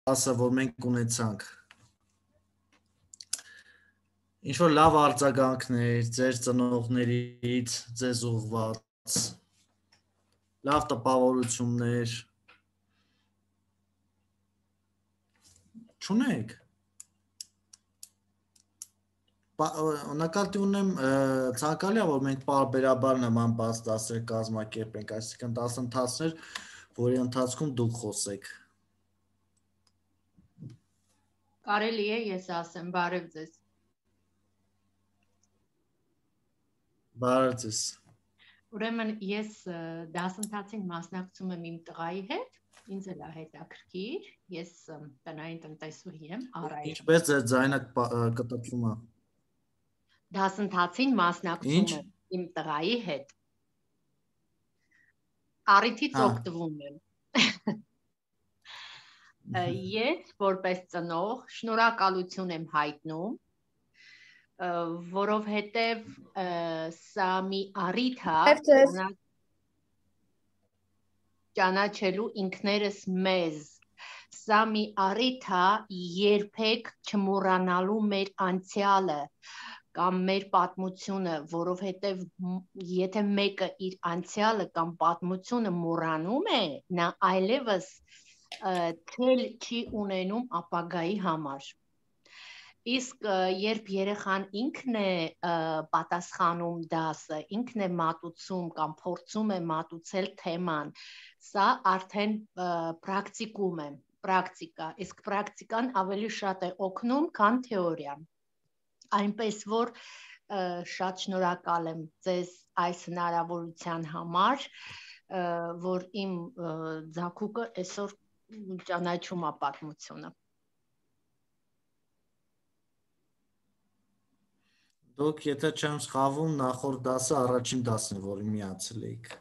դասը, որ մենք ունեցանք, ինչ-որ լավ արձագանքներ ձեր ծնողներից, ձեզ ուղղված, լավ տպավորություններ, չունեք։ Նկատի ունեմ ցանկալի է, որ մենք պարբերաբար նման բաց դասեր կազմակերպենք, այսինքն դասընթացներ, որի ընթացքում դուք խոսեք։ Կարելի է ես ասեմ, բարև ձեզ։ Բարև ձեզ։ Ուրեմն ես դասընթացին մասնակցում եմ իմ տղայի հետ, ինձ էլ է հետաքրքիր, ես տնային տնտեսուհի եմ, Արայել։ Ինչպես է ձայնը կտրվում է։ Դասընթացին մասնակցում եմ իմ տղայի հետ։ Առիթից օգտվում եմ։ Ես որպես ծնող շնորհակալություն եմ հայտնում, որովհետև սա մի առիթ է ճանաչելու ինքներս մեզ։ Սա մի առիթ է երբեք չմոռանալու մեր անցյալը կամ մեր պատմությունը, որովհետև եթե մեկը իր անցյալը կամ պատմությունը մոռանում է, նա այլևս թել չի ունենում ապագայի համար։ Իսկ երբ երեխան ինքն է պատասխանում դասը, ինքն է մատուցում կամ փորձում է մատուցել թեման, սա արդեն պրակտիկում է, պրակտիկա, իսկ պրակտիկան ավելի շատ է օգնում, քան թեորիան։ Այնպես որ շատ շնորհակալ եմ ձեզ այս հնարավորության համար, որ իմ ձագուկը այսօր ճանաչում է պատմությունը։ Դուք եթե չեմ սխալվում, նախորդ դասը առաջին դասն է, որին միացել էիք։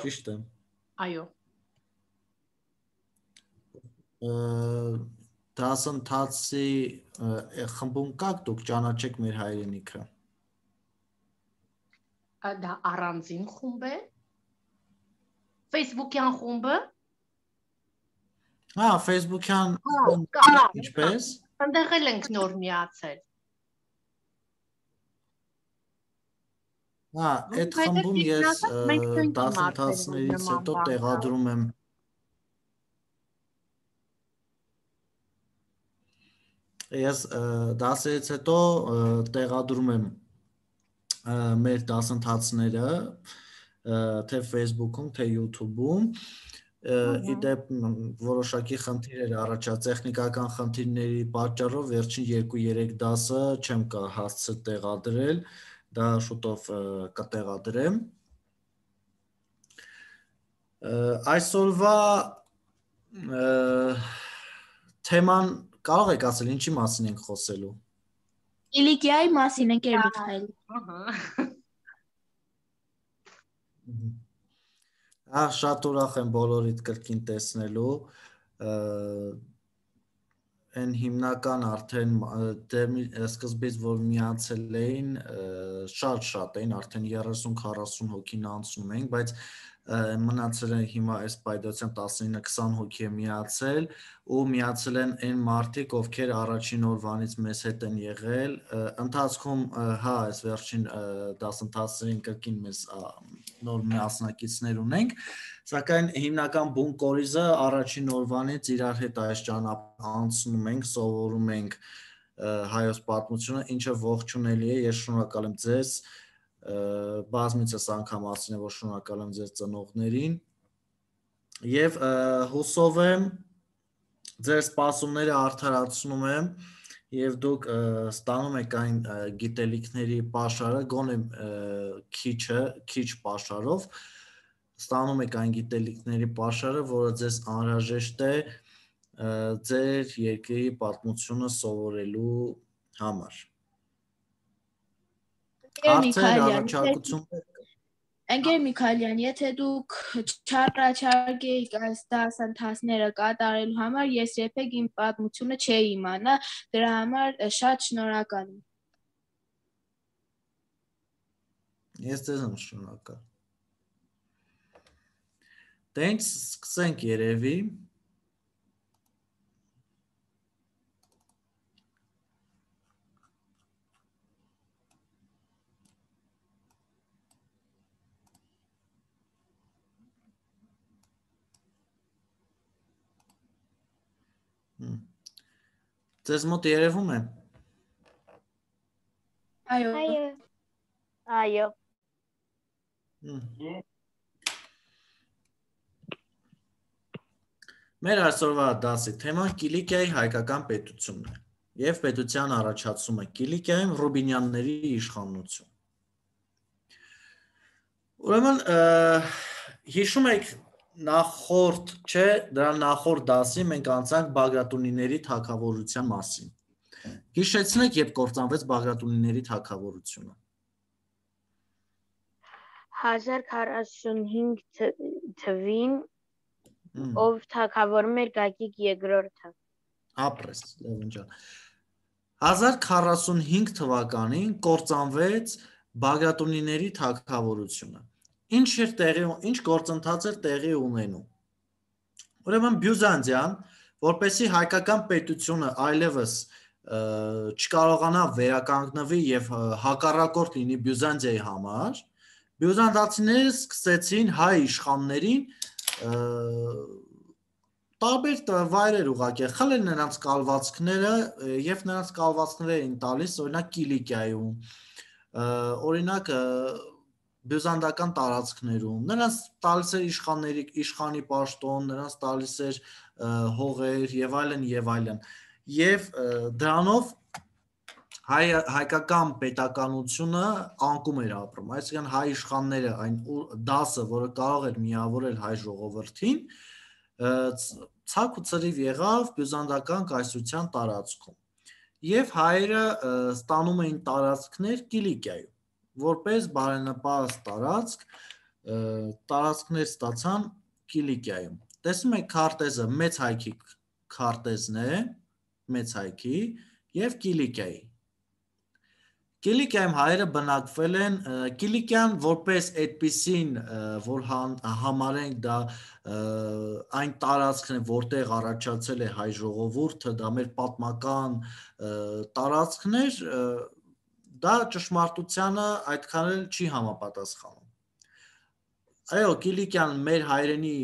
Ճիշտ է։ Այո։ Դասընթացի խմբում կաք դուք ճանաչեք մեր հայրենիքը։ Դա առանձին խումբ է։ Facebook-յան խումբը։ Հա, Facebook-յան ինչպես։ Այնտեղ էլ ենք նոր միացել։ Հա, այդ խմբում ես դասընթացներից հետո տեղադրում եմ դասերից հետո տեղադրում եմ մեր դասընթացները թե Facebook-ում, թե YouTube-ում, իդեպ որոշակի խնդիրներ առաջացած տեխնիկական խնդիրների պատճառով վերջին 2-3 դասը չեմ հասցել տեղադրել, դա շուտով կտեղադրեմ։ Այսօրվա թեման կարող եք ասել ինչի մասին ենք խոսելու։ Կիլիկիայի մասին ենք Միքայել։ Շատ ուրախ եմ բոլորիդ կրկին տեսնելու։ Այն հիմնական արդեն սկզբից որ միացել էին, շատ էին, արդեն 30-40 հոգին անցնում ենք, բայց մնացել են հիմա այս պայդության 19-20 հոգի է միացել ու միացել են այն մարդիկ, ովքեր առաջին օրվանից մեզ հետ են եղել, ընթացքում հա, այս վերջին դասընթացներին կրկին մեզ նոր մասնակիցներ ունենք, սակայն հիմնական բուն կորիզը առաջին օրվանից իրար հետ այս ճանապարհ անցնում ենք, սովորում ենք հայոց պատմությունը, ինչը ողջունելի է, ես շնորհակալ եմ ձեզ, բազմիցս անգամ ասել եմ, որ շնորհակալ եմ ձեզ ծնողներին եւ հուսով եմ ձեր սպասումները արդարացնում եմ եւ դուք ստանում եք այն գիտելիքների պաշարը, գոնե քիչ պաշարով ստանում եք այն գիտելիքների պաշարը, որը ձեզ անհրաժեշտ է ձեր երկրի պատմությունը սովորելու համար։ Հարցեր, առաջարկություններ։ Ընկեր Միքայելյան, եթե դուք չառաջարկեիք այս դասընթացները կատարելու համար, ես երբեք իմ պատմությունը չէի իմանա, դրա համար շատ շնորհակալ եմ։ Ես ձեզ եմ շնորհակալ։ Դե ինչ սկսենք երևի։ Ձեզ մոտ երևում է։ Այո։ Մեր այսօրվա դասի թեման Կիլիկիայի հայկական պետությունն է և պետության առաջացումը Կիլիկիայում Ռուբինյանների իշխանություն։ Ուրեմն հիշում եք նախորդ, չէ, դրա նախորդ դասի մենք անցանք Բագրատունիների թագավորության մասին։ Հիշեցնեք, երբ կործանվեց Բագրատունիների թագավորությունը։ 1045 թվին ով թագավորում էր Գագիկ II-ը։ Ապրես, Լևոն ջան։ 1045 թվականին կործանվեց Բագրատունիների թագավորությունը։ Ինչ գործընթաց էր տեղի ունենում։ Ուրեմն Բյուզանդիան, որպեսզի հայկական պետությունը այլևս չկարողանա վերականգնվի եւ հակառակորդ լինի Բյուզանդիայի համար, բյուզանդացիները սկսեցին հայ իշխաններին տարբեր վայրեր ուղղակի խլել նրանց կալվածքները եւ նրանց կալվածքները էին տալիս օրինակ Կիլիկիայում, օրինակ բյուզանդական տարածքներում, նրանց տալիս էր իշխանի պաշտոն, նրանց տալիս էր հողեր եւ այլն եւ այլն։ Եվ դրանով հայկական պետականությունը անկում էր ապրում, այսինքն հայ իշխանները այն դասը, որը կարող էր միավորել հայ ժողովրդին, ցակ ու ծրիվ եղավ բյուզանդական կայսրության տարածքում։ Եվ հայերը ստանում էին տարածքներ Կիլիկիայում, որպես բարենպաստ տարածքներ ստացան Կիլիկիայում։ Տեսնում եք քարտեզը, մեծ հայքի քարտեզն է, մեծ հայքի եւ Կիլիկիայի։ Կիլիկիայում հայերը բնակվել են, Կիլիկիան որպես այդպիսին, որ համարենք դա այն տարածքն է, որտեղ առաջացել է հայ ժողովուրդը, դա մեր պատմական տարածքն էր, դա ճշմարտությանը այդքան էլ չի համապատասխանում։ Այո, Կիլիկիան մեր հայրենի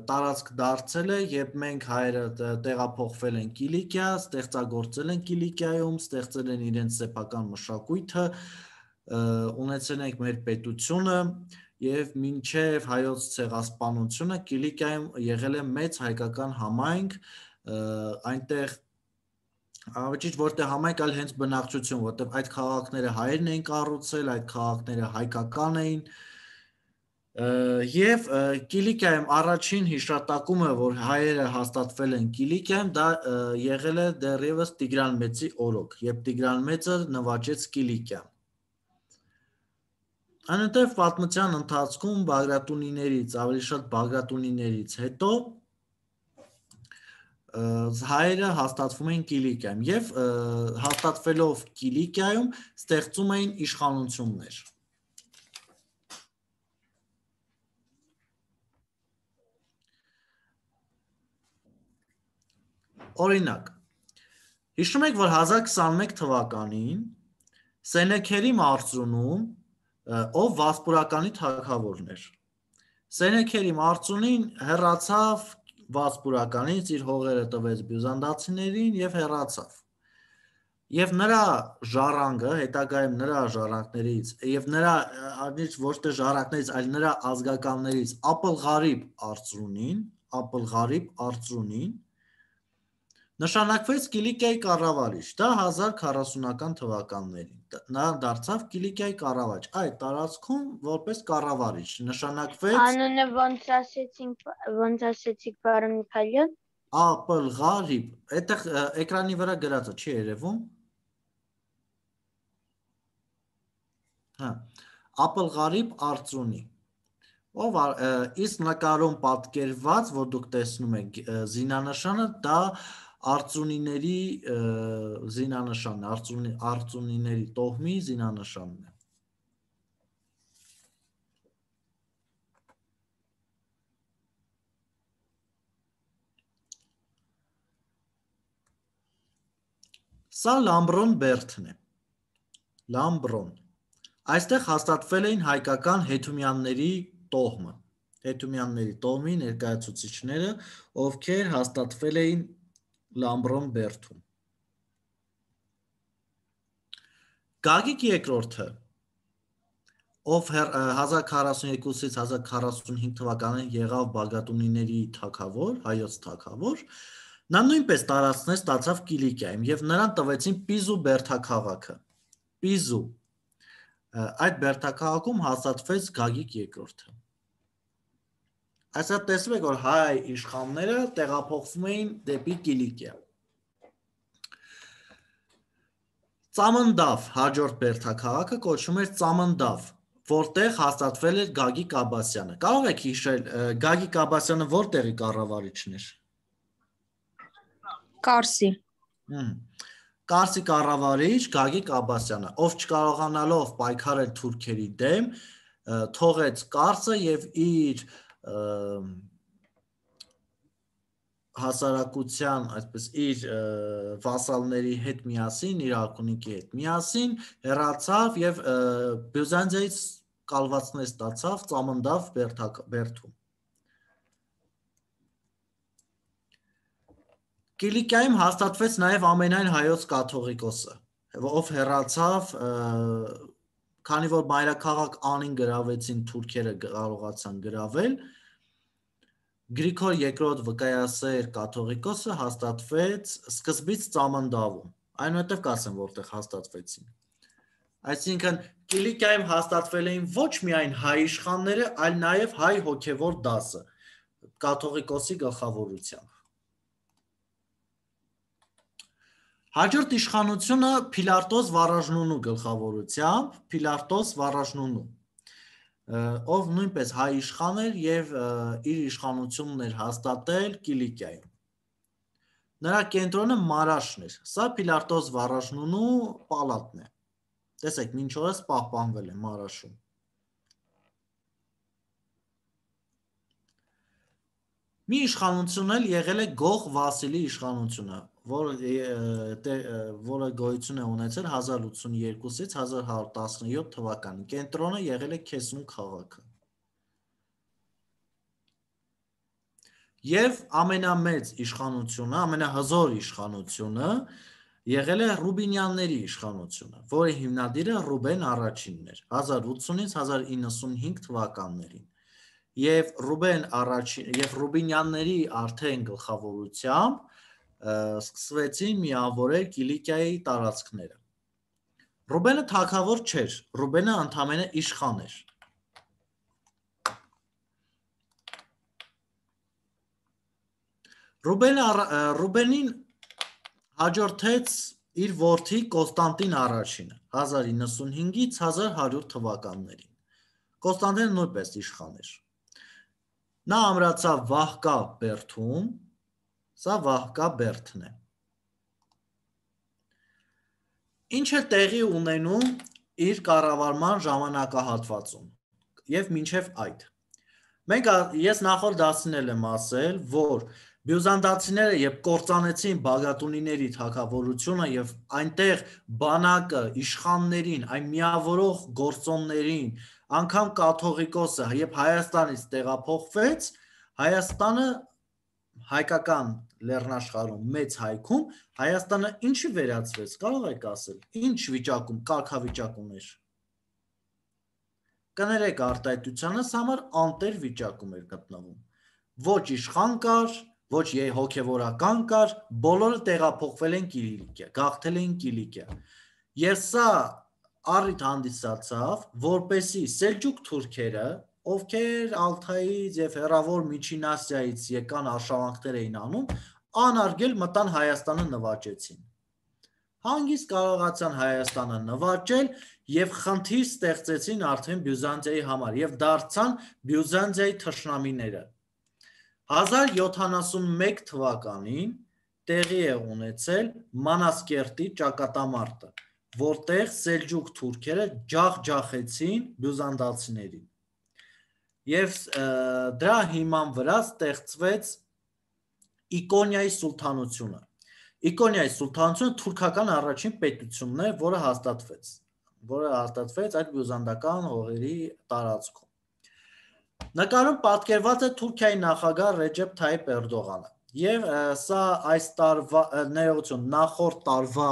տարածք դարձել է, երբ մենք հայերը տեղափոխվել են Կիլիկիա, ստեղծագործել են Կիլիկիայում, ստեղծել են իրենց սեփական մշակույթը, ունեցել ենք մեր պետությունը եւ մինչեւ հայոց ցեղասպանությունը Կիլիկիայում եղել է մեծ հայկական համայնք, այնտեղ Ճիշտ որտեղ համայնք այլ հենց բնակչություն, որտեղ այդ քաղաքները հայերն էին կառուցել, այդ քաղաքները հայկական էին, եւ Կիլիկիայում առաջին հիշատակումը, որ հայերը հաստատվել են Կիլիկիայում, դա եղել է դեռևս Տիգրան Մեծի օրոք, երբ Տիգրան Մեծը նվաճեց Կիլիկիան։ Այնուհետև պատմության ընթացքում Բագրատունիներից, ավելի շատ Բագրատունիներից հետո հայերը հաստատվում էին Կիլիկիայում եւ հաստատվելով Կիլիկիայում ստեղծում էին իշխանություններ։ Օրինակ, հիշում եք, որ 1021 թվականին Սենեքերի մարզունում, ով Վասպուրականի թագավորն էր, Սենեքերի մարզունին հեռացավ Վասպուրականից, իր հողերը տվեց բյուզանդացիներին եւ հեռացավ։ Եվ նրա ժառանգը, հետագայում նրա ժառանգներից եւ նրա ոչ թե ժառանգներից, այլ նրա ազգականներից Ապլղարիբ Արծրունին նշանակվեց Կիլիկիայի կառավարիչ, դա 1040-ական թվականներին, նա դարձավ Կիլիկիայի կառավարիչ, այդ տարածքում որպես կառավարիչ, նշանակվեց Անունը ոնց ասեցիք, պարոն Միքայելյան։ Ապլղարիբ, այդտեղ էկրանի վրա գրածը չի երևում։ Հա, Ապլղարիբ Արծրունի, ով իսկ նկարում պատկերված, որ դուք տեսնում եք զինանշանը, դա Արծունիների զինանշանն է, Արծունիների տոհմի զինանշանն է։ Սա Լամբրոն Բերդն է։ Լամբրոն։ Այստեղ հաստատվել էին հայկական հետումյանների տոհմը, հետումյանների տոհմի ներկայացուցիչները, ովքեր հաստատվել էին Լամբրոն Բերթում։ Գագիկ երկրորդը, ով 1042-ից 1045 թվականին եղավ Բագատունիների թագավոր, հայոց թագավոր, նա նույնպես տարածքներ ստացավ Կիլիկիայում եւ նրան տվեցին Պիզու բերդաքաղաքը։ Պիզու այդ բերդաքաղաքում հաստատվեց Գագիկ երկրորդը։ Այսա տեսնում եք, որ հայ իշխանները տեղափոխվում էին դեպի Կիլիկիա։ Ծամնդավ հաջորդ բերդաքաղաքը կոչվում էր Ծամնդավ, որտեղ հաստատվել էր Գագիկ Աբասյանը։ Կարող եք հիշել Գագիկ Աբասյանը որտեղի կառավարիչն էր։ Կարսի։ Կարսի կառավարիչ Գագիկ Աբասյանը, ով չկարողանալով պայքարել թուրքերի դեմ, թողեց Կարսը եւ իր հասարակության, այսպես իր վասալների հետ միասին, իր արքունիքի հետ միասին հեռացավ եւ Բյուզանդիայից կալվածներ ստացավ Ծամնդավ բերդում։ Կիլիկիայում հաստատվեց նաեւ ամենայն հայոց կաթողիկոսը, ով հեռացավ, քանի որ մայրաքաղաք Անին գրավեցին թուրքերը, կարողացան գրավել, Գրիգոր II վկայասեր կաթողիկոսը հաստատվեց սկզբից Ծամնդավում, այնուհետև կասեմ որտեղ հաստատվեցին։ Այսինքն Կիլիկիայում հաստատվել էին ոչ միայն հայ իշխանները, այլ նաև հայ հոգևոր դասը կաթողիկոսի գլխավորությամբ։ Հաջորդ իշխանությունը Փիլարտոս Վարաժնունու գլխավորությամբ, Փիլարտոս Վարաժնունու, ով նույնպես հայ իշխան էր եւ իր իշխանությունն էր հաստատել Կիլիկիայում։ Նրա կենտրոնը Մարաշն էր։ Սա Փիլարտոս Վարաժնունու պալատն է։ Տեսեք, մինչ օրս պահպանվել է Մարաշում։ Մի իշխանություն էլ եղել է Գող Վասիլի իշխանությունը, որը գոյություն է ունեցել 1082-ից 1117 թվականին։ Կենտրոնը եղել է Քեսուն քաղաքը։ Եվ ամենամեծ իշխանությունը, ամենահզոր իշխանությունը եղել է Ռուբինյանների իշխանությունը, որի հիմնադիրը Ռուբեն առաջինն էր 1080-ից 1095 թվականներին։ Եվ Ռուբինյանների արդեն գլխավորությամբ սկսվեցին միավորել Կիլիկիայի տարածքները։ Ռուբենը թագավոր չէր, Ռուբենը ընդամենը իշխան էր։ Ռուբենին հաջորդեց իր որդի Կոստանտին առաջինը 1095-ից 1100 թվականներին։ Կոստանտինը նույնպես իշխան էր։ Նա ամրացավ Վահկա բերդում, սա Վահկա բերդն է։ Ինչ է տեղի ունենում իր կառավարման ժամանակահատվածում եւ մինչեւ այդ։ Ես նախորդ դասին եմ ասել, որ բյուզանդացիները երբ կործանեցին Բագատունիների թագավորությունը եւ այնտեղ բանակը, իշխաններին, այն միավորող գործոններին, անգամ կաթողիկոսը երբ Հայաստանից տեղափոխվեց, Հայաստանը հայկական լեռնաշխարհում մեծ հայքում Հայաստանը ինչի վերածվեց, կարող եք ասել, ինչ վիճակում, կարգավիճակ ուներ։ Կներեք արտահայտությանս համար անտեր վիճակում էր գտնվում։ Ոչ իշխան կար, ոչ հոգևորական կար, բոլորը տեղափոխվել են Կիլիկիա, գաղթել էին Կիլիկիա։ Եվ սա առիթ հանդիսացավ, որպեսզի Սելջուկ թուրքերը, ովքեր Ալթայից եւ հեռավոր Միջին Ասիայից եկան արշավանքներ էին անում, անարգել մտան Հայաստանը նվաճեցին։ Հանգիստ կարողացան Հայաստանը նվաճել եւ խնդիր ստեղծեցին արդեն Բյուզանդիայի համար եւ դարձան Բյուզանդիայի թշնամիները։ 1071 թվականին տեղի է ունեցել Մանասկերտի ճակատամարտը, որտեղ Սելջուկ թուրքերը ջախջախեցին բյուզանդացիներին։ Եվ դրա հիման վրա ստեղծվեց Իկոնիայի սուլթանությունը։ Իկոնիայի սուլթանությունը թուրքական առաջին պետությունն է, որը հաստատվեց այդ բյուզանդական հողերի տարածքում։ Նկարում պատկերված է Թուրքիայի նախագահ Ռեջեփ Թայիփ Էրդողանը։ Եվ սա այս տարվա ներողություն նախորդ տարվա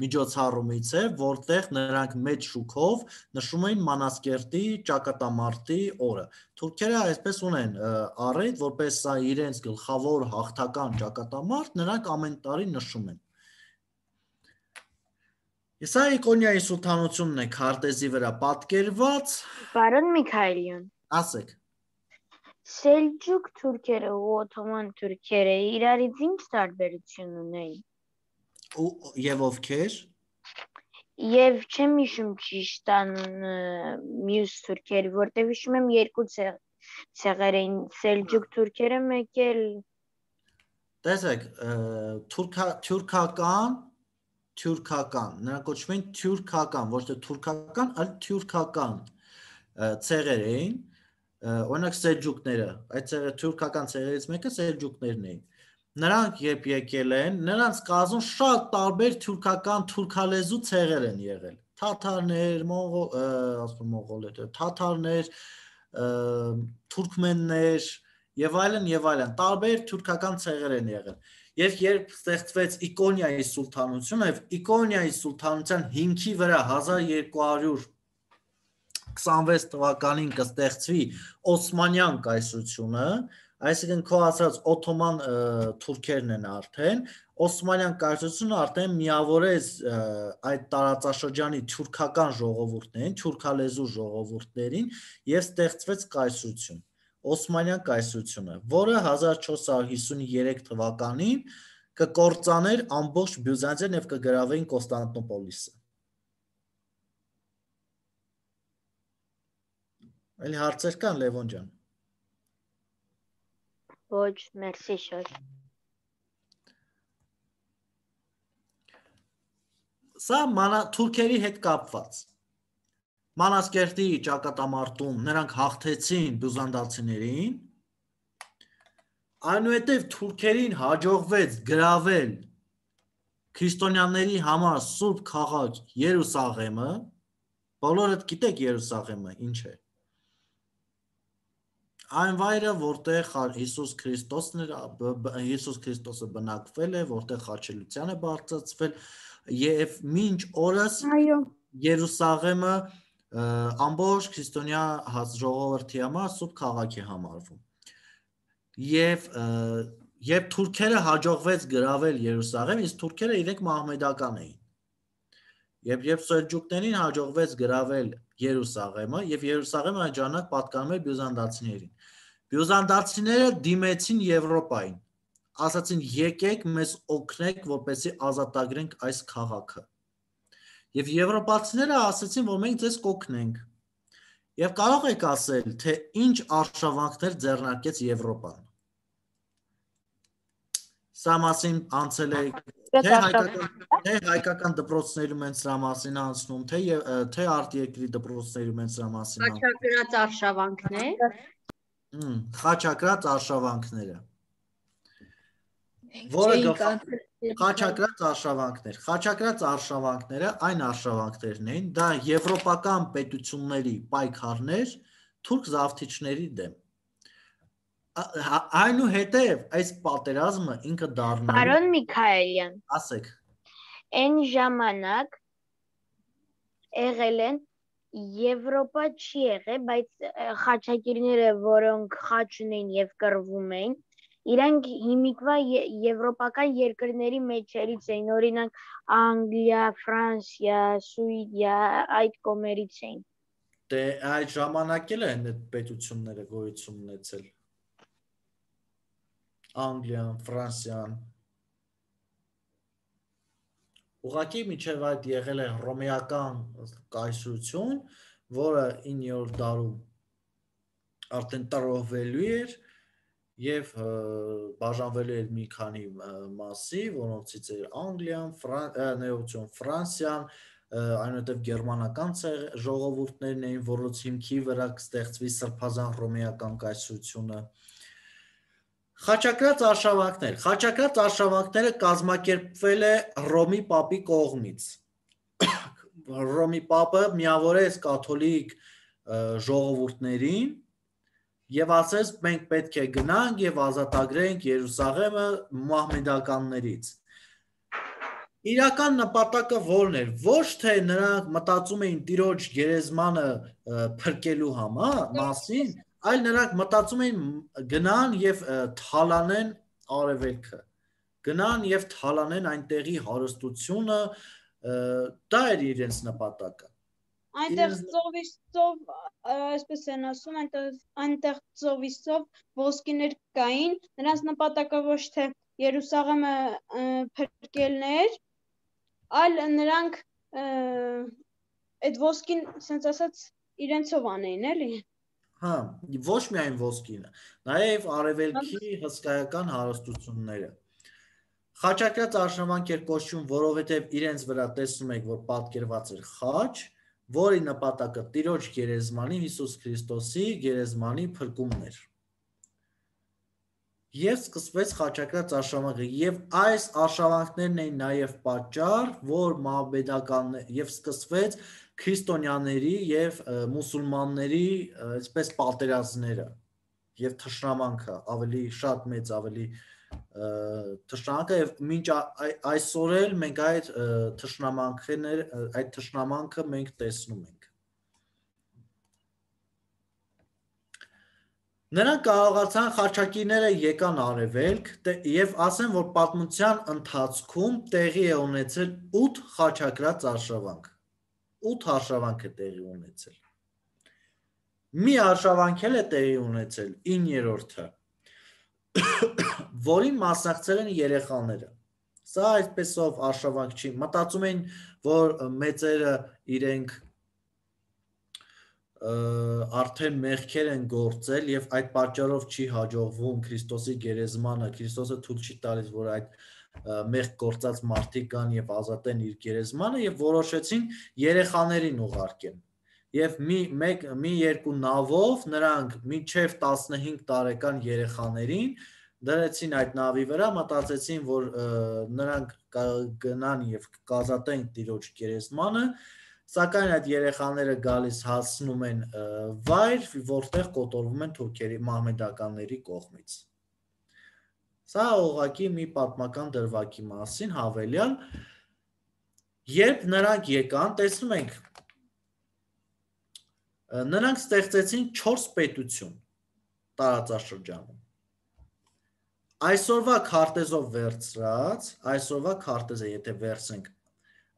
միջոցառումից է, որտեղ նրանք մեծ շուքով նշում էին Մանասկերտի ճակատամարտի օրը։ Թուրքերը այսպես ունեն առիթ, որպես սա իրենց գլխավոր հաղթական ճակատամարտ, նրանք ամեն տարի նշում են։ Սա Իկոնիայի սուլթանությունն է քարտեզի վրա պատկերված։ Պարոն Միքայելյան, Ասեք։ Սելջուկ թուրքերը ու օթոման թուրքերը իրարից ինչ տարբերություն ունեին։ Եվ ովքեր։ Եվ չեմ հիշում ճիշտ անունը մյուս թուրքերի, որտեղ հիշում եմ երկու ցեղեր էին, Սելջուկ թուրքերը մեկ էլ։ Տեսեք, թյուրքական, նրանք կոչվում են թյուրքական, ոչ թե թուրքական, այլ թյուրքական ցեղեր էին, օրինակ սելջուկները, այդ թյուրքական ցեղերից մեկը սելջուկներն էին։ Նրանք երբ եկել են, նրանց կազմում շատ տարբեր թյուրքական թուրքալեզու ցեղեր են եղել։ Թաթարներ, թաթարներ, թուրքմեններ եւ այլն, տարբեր թուրքական ցեղեր են եղել։ Եվ երբ ստեղծվեց Իկոնիայի սուլթանությունը, եւ Իկոնիայի սուլթանության հիմքի վրա 1226 թվականին կստեղծվի Օսմանյան կայսրությունը, այսինքն քո ասած օթոման թուրքերն են արդեն, Օսմանյան կայսրությունը արդեն միավորեց այդ տարածաշրջանի թուրքական ժողովուրդներին, թուրքալեզու ժողովուրդներին եւ ստեղծվեց կայսրություն, Օսմանյան կայսրությունը, որը 1453 թվականին կկործաներ ամբողջ Բյուզանդիան եւ կգրավեին Կոստանդնուպոլիսը։ Էլի հարցեր կան, Լևոն ջան։ Ոչ, մերսի շոր։ Սա թուրքերի հետ կապված։ Մանասկերտի ճակատամարտում նրանք հաղթեցին բյուզանդացիներին, այնուհետև թուրքերին հաջողվեց գրավել քրիստոնյաների համար սուրբ քաղաք Երուսաղեմը, բոլորդ գիտեք Երուսաղեմը ինչ է։ Այն վայրը, որտեղ Հիսուս Քրիստոսը բնակվել է, որտեղ խաչելության է բարձրացվել, եւ մինչ օրս Երուսաղեմը ամբողջ քրիստոնյա ժողովրդի համար սուրբ քաղաք է համարվում։ Եվ թուրքերը հաջողվեց գրավել Երուսաղեմ, իսկ թուրքերը իրենք մահմեդական էին։ Երբ սելջուկներին հաջողվեց գրավել Երուսաղեմը, եւ Երուսաղեմը այդ ժամանակ պատկանում էր բյուզանդացիներին։ Բյուզանդացիները դիմեցին Եվրոպային, ասացին եկեք մեզ օգնեք, որպեսզի ազատագրենք այս քաղաքը։ Եվ եվրոպացիները ասացին, որ մենք ձեզ կօգնենք։ Եվ կարող եք ասել, թե ինչ արշավանքներ ձեռնարկեց Եվրոպան։ Սա մասին անցել է թե հայկական դպրոցներում են սրա մասին անցնում, թե արտերկրի դպրոցներում են սրա մասին անցնում։ Խաչակրած արշավանքներ։ Խաչակրած արշավանքները։ Խաչակրած արշավանքները այն արշավանքներն էին, դա եվրոպական պետությունների պայքարներ թուրք զավթիչների դեմ։ Այնուհետև այս պատերազմը ինքը դառնալու։ Պարոն Միքայելյան, ասեք։ Այն ժամանակ եղել են Եվրոպա չի եղել, բայց խաչակիրները, որոնք խաչ ունեն եւ կռվում էին, իրանք հիմիկվա եվրոպական երկրների մեջերից էին, օրինակ Անգլիա, Ֆրանսիա, Սուիդիա, այդ կողմերից էին։ Դե այդ ժամանակ էլ են այդ պետությունները գոյություն ունեցել։ Անգլիան, Ֆրանսիան։ Ուղղակի միջև այդ եղել է հռոմեական կայսրություն, որը 9-րդ դարում արդեն տրոհվելու էր եւ բաժանվելու էր մի քանի մասի, որոնցից էր Անգլիան, Ֆրանսիան, այնուհետև գերմանական ժողովուրդներն էին, որոնց հիմքի վրա կստեղծվի սրբազան հռոմեական կայսրությունը։ Խաչակրած արշավանքները կազմակերպվել է Հռոմի պապի կողմից։ Հռոմի պապը միավորեց կաթոլիկ ժողովուրդներին եւ ասեց մենք պետք է գնանք եւ ազատագրենք Երուսաղեմը մահմեդականներից։ Իրական նպատակը որն էր, ոչ թե նրանք մտածում էին Տիրոջ գերեզմանը փրկելու մասին, այլ նրանք մտածում էին գնան եւ թալանեն արևելքը, գնան եւ թալանեն այնտեղի հարստությունը, դա էր իրենց նպատակը։ Այնտեղ ծովիստով, այսպես են ասում, այնտեղ ծովիստով ոսկիներ կային, նրանց նպատակը ոչ թե Երուսաղեմը փրկելն էր, այլ նրանք այդ ոսկին, ասենց ասած, իրենցով անեին, էլի։ Հա, ոչ միայն ոսկինը, նաև արևելքի հսկայական հարստությունները։ Խաչակրած արշավանք էր կոչվում, որովհետև իրենց վրա տեսնում եք, որ պատկերված էր խաչ, որի նպատակը Տիրոջ գերեզմանի Հիսուս Քրիստոսի գերեզմանի փրկումն էր։ Եվ սկսվեց խաչակրած արշավանքը, եւ այս արշավանքներն էին նաև պատճառ, որ մահմեդականներ եւ սկսվեց քրիստոնյաների եւ մուսուլմանների այսպես պատերազմները եւ թշնամանքը ավելի շատ մեծ ավելի թշնամանքը եւ մինչ այսօր էլ մենք այդ թշնամանքը մենք տեսնում ենք։ Նրանք կարողացան խաչակիրները եկան արևելք եւ ասեն, որ պատմության ընթացքում տեղի է ունեցել 8 խաչակրած արշավանք։ 8 արշավանք է տեղի ունեցել։ Մի արշավանք էլ է տեղի ունեցել 9-րդը, որին մասնակցել են երեխաները։ Սա այսպեսով արշավանք չի, մտածում են, որ մեծերը իրենք արդեն մեղքեր են գործել եւ այդ պատճառով չի հաջողվում Քրիստոսի գերեզմանը, Քրիստոսը թույլ չի տալիս, որ այդ մեղք գործած մարդիկ կան եւ ազատեն իր գերեզմանը եւ որոշեցին երեխաներին ուղարկեն։ Եվ մի երկու նավով նրանք մինչև 15 տարեկան երեխաներին դրեցին այդ նավի վրա, մտածեցին, որ նրանք գնան եւ կազատեն Տիրոջ գերեզմանը, սակայն այդ երեխաները գալիս հասնում են վայր, որտեղ կոտորվում են թուրքերի մահմեդականների կողմից։ Սա ուղղակի մի պատմական դրվագի մասին հավելյալ, երբ նրանք եկան, տեսնում ենք, նրանք ստեղծեցին 4 պետություն տարածաշրջանում։ Այսօրվա քարտեզով վերցրած, այսօրվա քարտեզը եթե վերցնենք,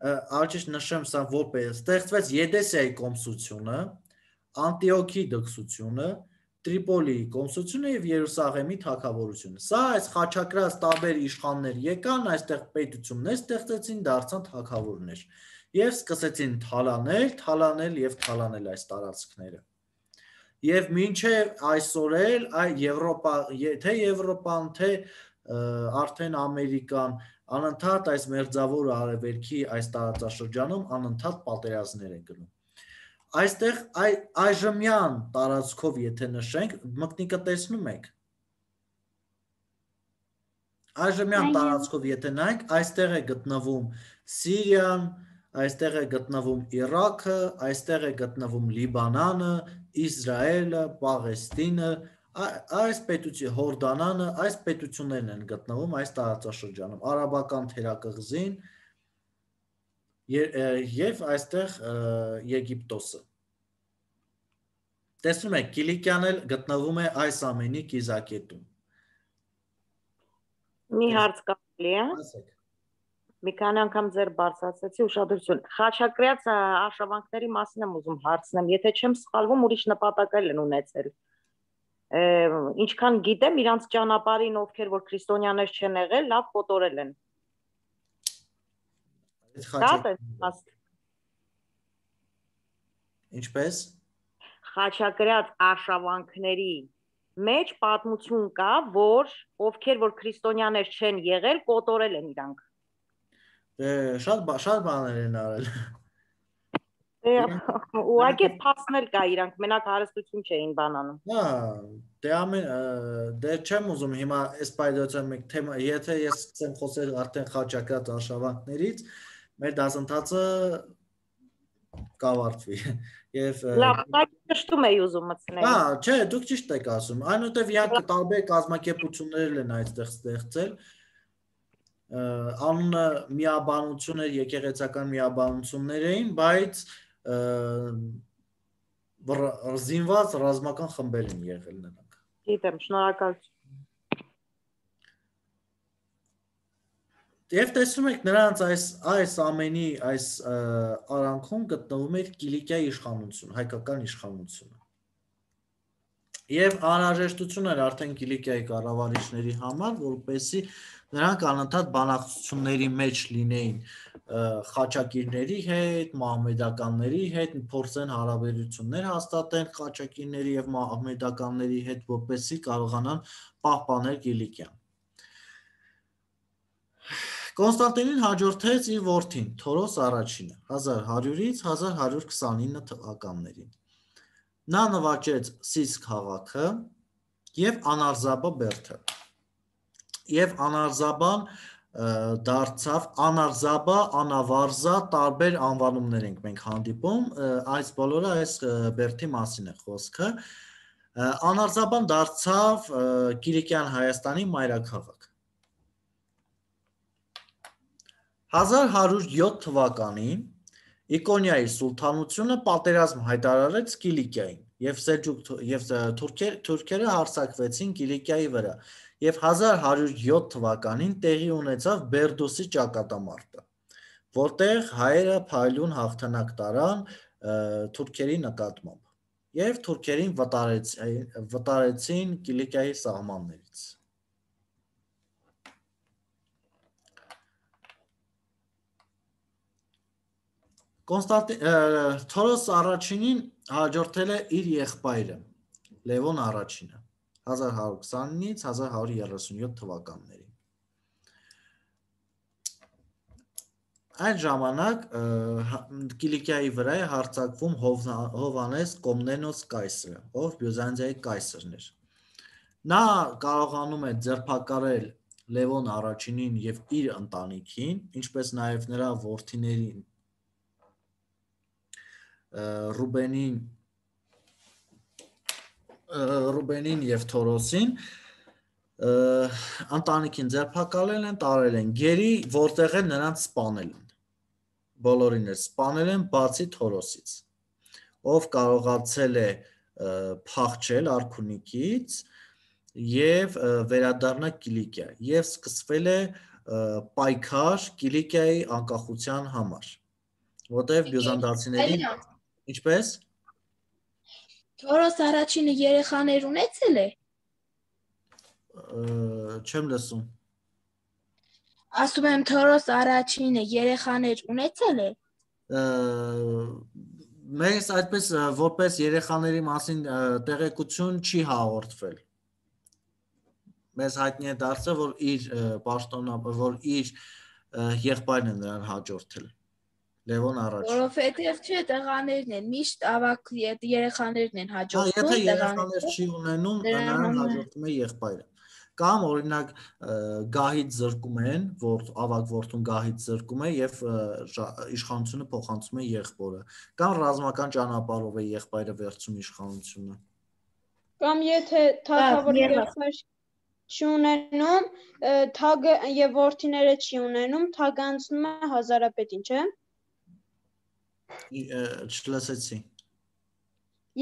Արժիշտ նշեմ սա որպես ստեղծվեց Եդեսիայի կոմսությունը, Անտիոքի դքսությունը, Տրիպոլիի կոմսությունը եւ Երուսաղեմի թագավորությունը։ Սա այս խաչակրած տարբեր իշխաններ եկան, այստեղ պետություններ ստեղծեցին, դարձան թագավորներ եւ սկսեցին թալանել եւ թալանել այս տարածքները։ Եվ մինչև այսօր էլ թե Եվրոպան, թե արդեն Ամերիկան անընդհատ այս մերձավոր արևելքի այս տարածաշրջանում անընդհատ պատերազմներ են գնում։ Այստեղ այժմյան տարածքով եթե նշենք, մկնիկը տեսնում եք։ Այժմյան տարածքով եթե նայենք, այստեղ է գտնվում Սիրիան, այստեղ է գտնվում Իրաքը, այստեղ է գտնվում Լիբանանը, Իսրայելը, Պաղեստինը, այս պետություն Հորդանանը, այս պետություններն են գտնվում այս տարածաշրջանում, արաբական թերակղզին եւ այստեղ Եգիպտոսը։ Տեսնում եք, Կիլիկիան էլ գտնվում է այս ամենի կիզակետում։ Մի հարց կարելի է։ Մի քանի անգամ ձեր բարձրացեցի ուշադրություն։ Խաչակրած արշավանքների մասին եմ ուզում հարցնեմ, եթե չեմ սխալվում, ուրիշ նպատակել են ունեցել։ Ինչքան գիտեմ, իրանց ճանապարհին ովքեր որ քրիստոնյաներ չեն եղել, լավ կոտորել են։ Ինչպես։ Խաչակրած արշավանքների մեջ պատմություն կա, որ ովքեր որ քրիստոնյաներ չեն եղել, կոտորել են իրանք։ Շատ բաներ են արել։ Ուղղակի փաստնել կա իրանք, մենակ հարստություն չէին բանանում։ Հա, դե չեմ ուզում հիմա այս պայդոցը մեկ թեմա, եթե ես սկսեմ խոսել արդեն խաչակրած արշավանքներից, մեր դասընթացը կավարտվի։ Եվ Լավ, ճշտում էի ուզում մտցնել։ Հա, չէ, դուք ճիշտ եք ասում։ Այնուհետև իրանք տարբեր կազմակերպություններ են այստեղ ստեղծել։ Անունը միաբանություն էր, եկեղեցական միաբանություններ էին, բայց զինված ռազմական խմբեր են եղել նրանք։ Գիտեմ, շնորհակալություն։ Եվ տեսնում եք նրանց այս ամենի այս արանքում գտնվում էր Կիլիկիայի իշխանությունը, հայկական իշխանությունը։ Եվ անհրաժեշտություն էր արդեն Կիլիկիայի կառավարիչների համար, որպեսզի նրանք անընդհատ բանակցությունների մեջ լինեին խաչակիրների հետ, մահմեդականների հետ, փորձեն հարաբերություններ հաստատեն խաչակիրների եւ մահմեդականների հետ, որպեսզի կարողանան պահպանել Կիլիկիան։ Կոնստանտինին հաջորդեց իր որդին Թորոս առաջինը 1100-ից 1129 թվականներին։ Նա նվաճեց Սիս քաղաքը եւ Անարզաբա բերդը։ Եվ Անարզաբան դարձավ Անարզաբա, Անավարզա տարբեր անվանումներ ենք մենք հանդիպում, այս բոլորը այս բերդի մասին է խոսքը։ Անարզաբան դարձավ Կիլիկյան Հայաստանի մայրաքաղաք։ 1107 թվականին Իկոնիայի սուլթանությունը պատերազմ հայտարարեց Կիլիկիային եւ թուրքերը հարձակվեցին Կիլիկիայի վրա եւ 1107 թվականին տեղի ունեցավ Բերդոսի ճակատամարտը, որտեղ հայերը փայլուն հաղթանակ տարան թուրքերի նկատմամբ եւ թուրքերին վտարեցին Կիլիկիայի սահմաններից։ Թորոս առաջինին հաջորդել է իր եղբայրը Լևոն առաջինը 1129-ից 1137 թվականներին։ Այդ ժամանակ Կիլիկիայի վրա է հարձակվում Հովհաննես Կոմնենոս կայսրը, ով Բյուզանդիայի կայսրն էր։ Նա կարողանում է ձերբակալել Լևոն առաջինին եւ իր ընտանիքին, ինչպես նաեւ նրա որդիներին Ռուբենին եւ Թորոսին, ընտանիքին ձերբակալել են, տարել են գերի, որտեղ են նրանց սպանել են։ Բոլորին էլ սպանել են, բացի Թորոսից, ով կարողացել է փախչել Արքունիքից եւ վերադառնալ Կիլիկիա, եւ սկսվել է պայքար Կիլիկիայի անկախության համար, որտեղ բյուզանդացիներին ինչպես Թորոս առաջինը երեխաներ ունեցել է։ Չեմ լսում։ Ասում եմ Թորոս առաջինը երեխաներ ունեցել է։ Մեզ այդպես որպես երեխաների մասին տեղեկություն չի հաղորդվել։ Մեզ հայտնի է դարձել, որ իր պաշտոնապար, որ իր եղբայրն է նրան հաջորդել։ Լևոն առաջին։ Որովհետև չէ, տղաներն են, միշտ ավակ երեխաներն են հաջորդում, եթե երեխաներ չի ունենում, նրան հաջորդում է եղբայրը։ Կամ օրինակ գահից զրկում են, որ ավակ որդուն գահից զրկում է եւ իշխանությունը փոխանցում է եղբորը, կամ ռազմական ճանապարհով է եղբայրը վերցում իշխանությունը։ Կամ եթե թագավորը եղբայր չի ունենում, թագը եւ որդիները չի ունենում, թագը անցնում է հազարապետին, չէ՞։ Չլսեցի։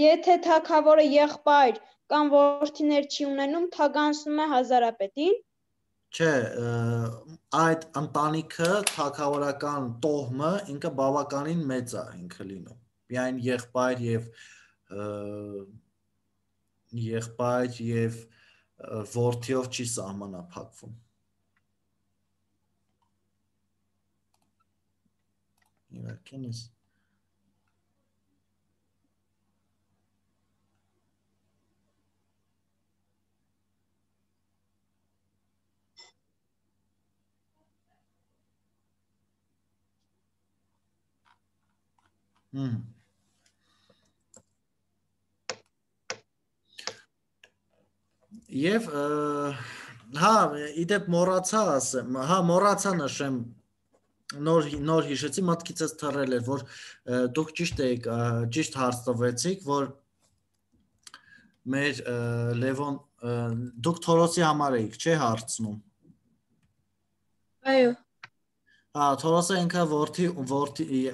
Եթե թագավորը եղբայր կամ որդիներ չի ունենում, թագը անցնում է հազարապետին։ Չէ, այդ ընտանիքը թագավորական տոհմը ինքը բավականին մեծ է ինքը լինում։ Միայն եղբայր եւ որդիով չի սահմանափակվում։ Իվարկենես Եվ հա, իդեպ մոռացա ասեմ, հա, մոռացա նշեմ նոր հիշեցի, մտքիցս թռել էր, որ դուք ճիշտ հարց տվեցիք, որ մեր Լևոն, դուք Թորոսի համար էիք, չէ՞ հարցնում։ Այո։ Թորոսը ինքը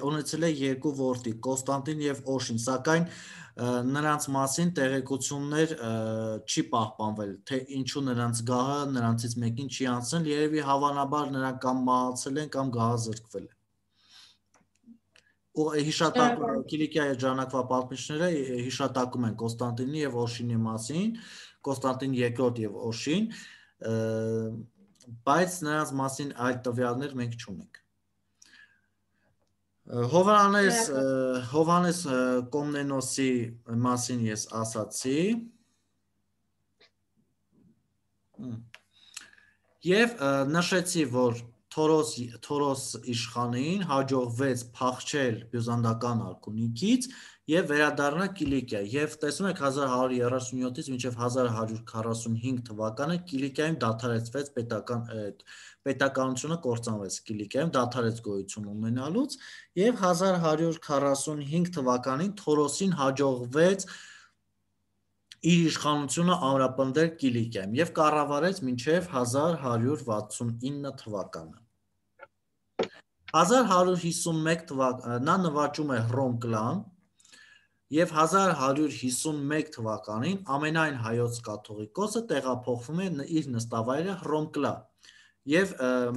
ունեցել է երկու որդի, Կոստանտին և Օշին, սակայն նրանց մասին տեղեկություններ չի պահպանվել, թե ինչու նրանց գահը նրանցից մեկին չի անցնել, երևի հավանաբար նրանք կամ մահացել են, կամ գահը զրկվել է։ Կիլիկիայի ժամանակվա պատմիչները հիշատակում են Կոստանտինի և Օշինի մասին, Կոստանտին II և Օշին, բայց նրանց մասին այլ տվյալներ մենք չունենք։ Հովհաննես Կոմնենոսի մասին ես ասացի և նշեցի, որ Թորոս իշխանին հաջողվեց փախչել բյուզանդական արքունիքից և վերադառնալ Կիլիկիա, և տեսնում եք 1137-ից մինչև 1145 թվականը Կիլիկիայում դադարեցվեց պետականությունը կործանվեց Կիլիկիայում, դադարեց գոյություն ունենալուց, և 1145 թվականին Թորոսին հաջողվեց իր իշխանությունը ամրապնդել Կիլիկիայում և կառավարեց մինչև 1169 թվականը։ 1151 թվականին նա նվաճում է Հռոմկլան և 1151 թվականին ամենայն հայոց կաթողիկոսը տեղափոխվում է իր նստավայրը Հռոմկլա և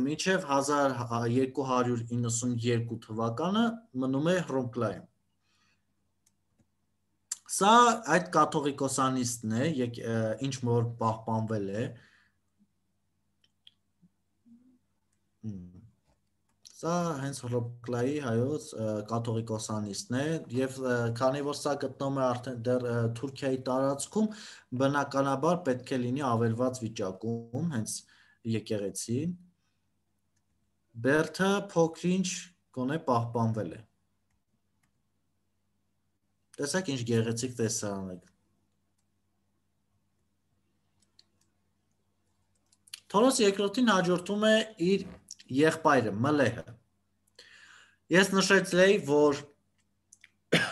մինչև 1292 թվականը մնում է Հռոմկլայում։ Սա այդ կաթողիկոսանիստն է, ինչ որ պահպանվել է, սա հենց Հռոմկլայի հայոց կաթողիկոսանիստն է, և քանի որ սա գտնվում է արդեն դեռ Թուրքիայի տարածքում, բնականաբար պետք է լինի ավերված վիճակում, հենց եկեղեցին, բերդը փոքր-ինչ գոնե պահպանվել է։ Տեսեք ինչ գեղեցիկ տեսարան է։ Թորոս երկրորդին հաջորդում է իր եղբայրը Մլեհը։ Ես նշեցի, որ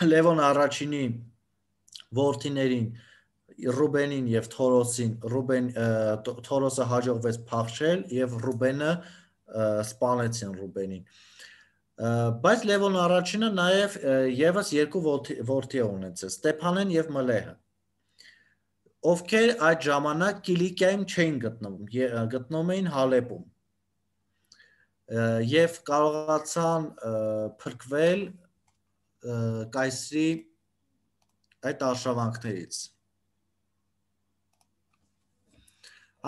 Լևոն առաջինի որդիներին Ռուբենին և Թորոսին, Թորոսը հաջողվեց փախչել և Ռուբենը սպանեցին Ռուբենին։ Բայց Լևոն առաջինը նաև ևս երկու որդի է ունեցել, Ստեփանեն և Մլեհը, ովքեր այդ ժամանակ Կիլիկիայում չէին գտնվում էին Հալեպում և կարողացան փրկվել կայսրի այդ արշավանքներից։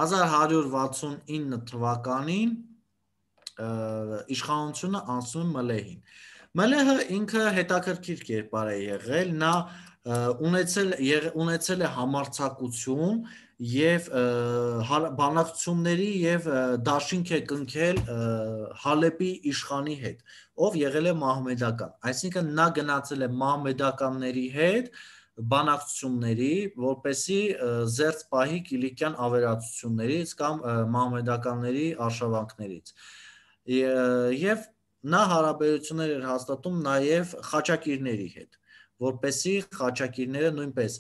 1169 թվականին իշխանությունը անցնում է Մլեհին։ Մլեհը ինքը հետաքրքիր կերպար է եղել, նա ունեցել է համարձակություն և բանակցությունների և դաշինք է կնքել Հալեպի իշխանի հետ, ով եղել է մահմեդական, այսինքն նա գնացել է մահմեդականների հետ բանակցությունների, որպեսզի զերծ պահի Կիլիկյան ավերածություններից կամ մահմեդականների արշավանքներից, և նա հարաբերություններ էր հաստատում նաև խաչակիրների հետ, որպեսզի խաչակիրները նույնպես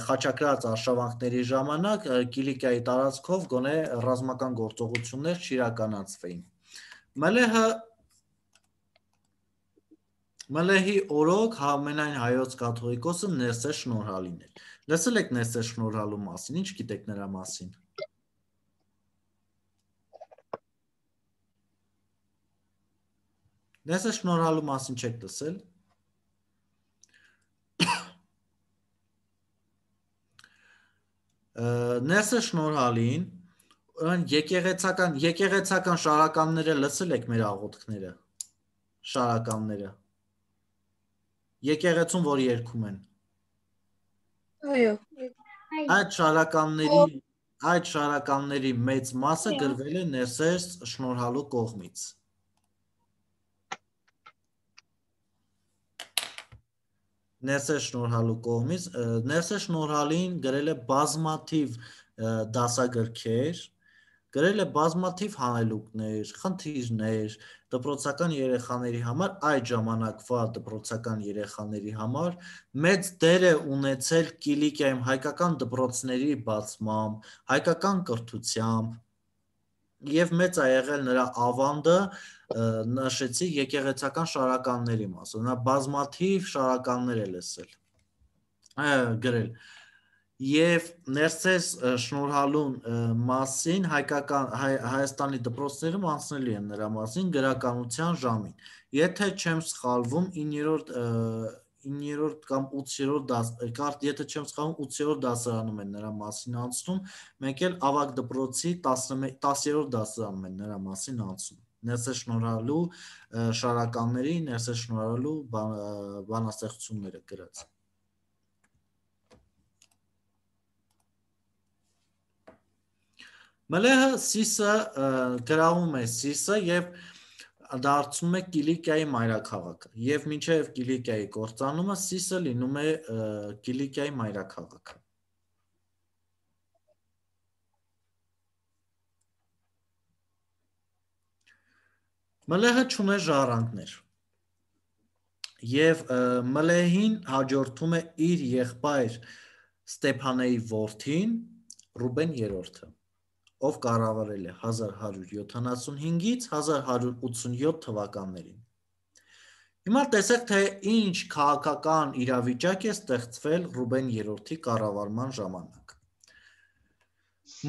խաչակրած արշավանքների ժամանակ Կիլիկիայի տարածքով գոնե ռազմական գործողություններ չիրականացվեին։ Մլեհի օրոք ամենայն հայոց կաթողիկոսը Ներսես Շնորհալին էր։ Լսել եք Ներսես Շնորհալու մասին, ինչ գիտեք նրա մասին։ Ներսես Շնորհալու մասին չեք լսել։ Ներսես Շնորհալին եկեղեցական շարականները լսել եք մեր աղոթքները, շարականները, եկեղեցում որ երգում են։ Այո։ Այդ շարականների մեծ մասը գրվել է Ներսես Շնորհալու կողմից։ Ներսես Շնորհալին գրել է բազմաթիվ դասագրքեր, գրել է բազմաթիվ հանելուկներ, խնդիրներ դպրոցական երեխաների համար, այդ ժամանակվա դպրոցական երեխաների համար մեծ դեր է ունեցել Կիլիկիայում հայկական դպրոցների բացմամբ, հայկական կրթությամբ եւ մեծ է եղել նրա ավանդը, նշեցի եկեղեցական շարականների մասը, նա բազմաթիվ շարականներ է լսել, գրել Եվ ներսես շնորհալուն մասին Հայաստանի դպրոցներում անցնելի են նրա մասին գրականության ժամին։ Եթե չեմ սխալվում 9-րդ կամ 8-րդ դասարանում են նրա մասին անցնում, մենք էլ ավագ դպրոցի 10-րդ դասարանում են նրա մասին անցնում։ Ներսես շնորհալու շարականների, ներսես շնորհալու բանաստեղծությունները գրած։ Մլեհը Սիսը գրավում է Սիսը և դարձում է Կիլիկիայի մայրաքաղաքը և մինչև Կիլիկիայի կործանումը Սիսը լինում է Կիլիկիայի մայրաքաղաքը։ Մլեհը չուներ ժառանգներ և Մլեհին հաջորդում է իր եղբայր Ստեփանեի որդին Ռուբեն III, ով կառավարել է 1175-ից 1187 թվականներին։ Հիմա տեսեք, թե ինչ քաղաքական իրավիճակ է ստեղծվել Ռուբեն III-ի կառավարման ժամանակ։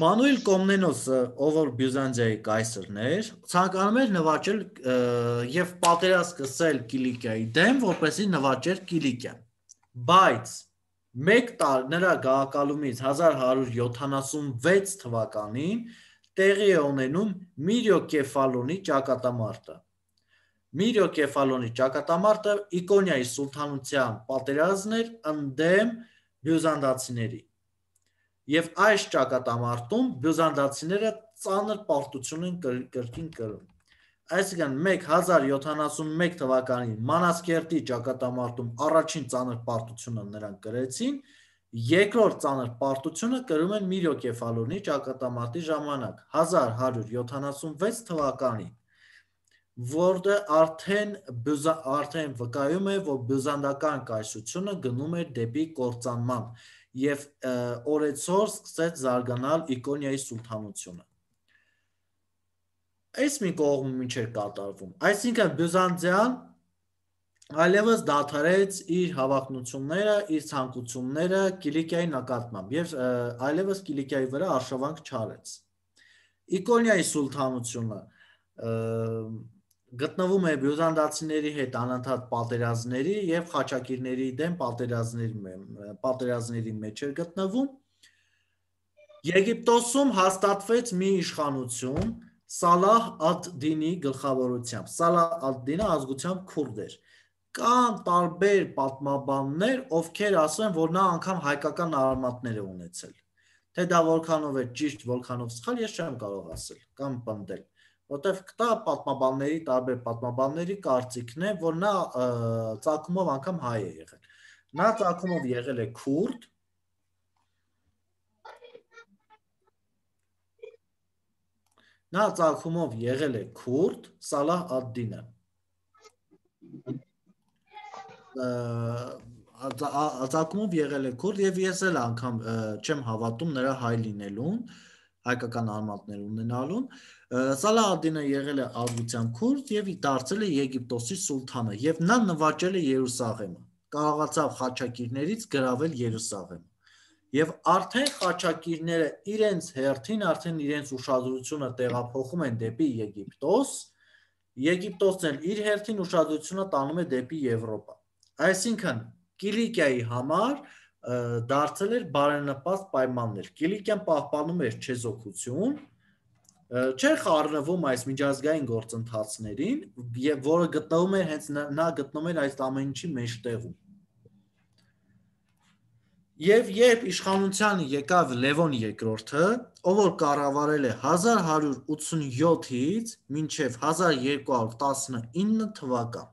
Մանուել Կոմնենոսը, ով որ Բյուզանդիայի կայսրն էր, ցանկանում էր նվաճել եւ պատերազմ սկսել Կիլիկիայի դեմ, որպեսզի նվաճեր Կիլիկիան, բայց նրա գաղակալումից 1176 թվականին տեղի է ունենում Միրյո Կեֆալոնի ճակատամարտը։ Միրյո Կեֆալոնի ճակատամարտը Իկոնիայի սուլթանության պատերազմն էր ընդդեմ բյուզանդացիների։ Եվ այս ճակատամարտում բյուզանդացիները ծանր պարտություն են կրկին կրում։ Այսինքն 1071 թվականին Մանասկերտի ճակատամարտում առաջին ծանր պարտությունը նրանք կրեցին, երկրորդ ծանր պարտությունը կրում են Միրյո Կեֆալոնի ճակատամարտի ժամանակ 1176 թվականին, որը արդեն վկայում է, որ բյուզանդական կայսրությունը գնում էր դեպի կործանման և օրեցօր սկսեց զարգանալ Իկոնիայի սուլթանությունը։ Այս մի կողմում ինչ էր կատարվում, այսինքն Բյուզանդիան այլևս դադարեց իր հավակնությունները, իր ցանկությունները Կիլիկիայի նկատմամբ և այլևս Կիլիկիայի վրա արշավանք չարեց։ Իկոնիայի սուլթանությունը գտնվում է բյուզանդացիների հետ անընդհատ պատերազմների և խաչակիրների դեմ պատերազմների մեջ էր գտնվում։ Եգիպտոսում հաստատվեց մի իշխանություն Սալահ ալ-Դինի գլխավորությամբ, Սալահ ալ-Դինը ազգությամբ քուրդ էր։ Կան տարբեր պատմաբաններ, ովքեր ասում են, որ նա անգամ հայկական արմատներ է ունեցել։ Թե դա որքանով է ճիշտ, որքանով սխալ, ես չեմ կարող ասել կամ պնդել, որտեղ կա պատմաբանների, տարբեր պատմաբանների կարծիքն է, որ նա ծագումով անգամ հայ է եղել։ Նա ծագումով եղել է քուրդ, Սալահ ալ-Դինը։ Ծագումով եղել է քուրդ և ես էլ անգամ չեմ հավատում նրա հայ լինելուն, հայկական արմատներ ունենալուն։ Սալահ ալ-Դինը եղել է ազգությամբ քուրդ և դարձել է Եգիպտոսի սուլթանը և նա նվաճել է Երուսաղեմը, կարողացավ խաչակիրներից գրավել Երուսաղեմը։ Եվ արդեն խաչակիրները իրենց հերթին արդեն իրենց ուշադրությունը տեղափոխում են դեպի Եգիպտոս, Եգիպտոսն էլ իր հերթին ուշադրությունը տանում է դեպի Եվրոպա։ Այսինքն Կիլիկիայի համար դարձել էր բարենպաստ պայմաններ։ Կիլիկիան պահպանում էր չեզոքություն, չէր խառնվում այս միջազգային գործընթացներին, որը գտնվում էր հենց նա գտնվում էր այս ամեն ինչի մեջտեղում։ Եվ երբ իշխանության եկավ Լևոն II, ով որ կառավարել է 1187-ից մինչև 1219 թվական,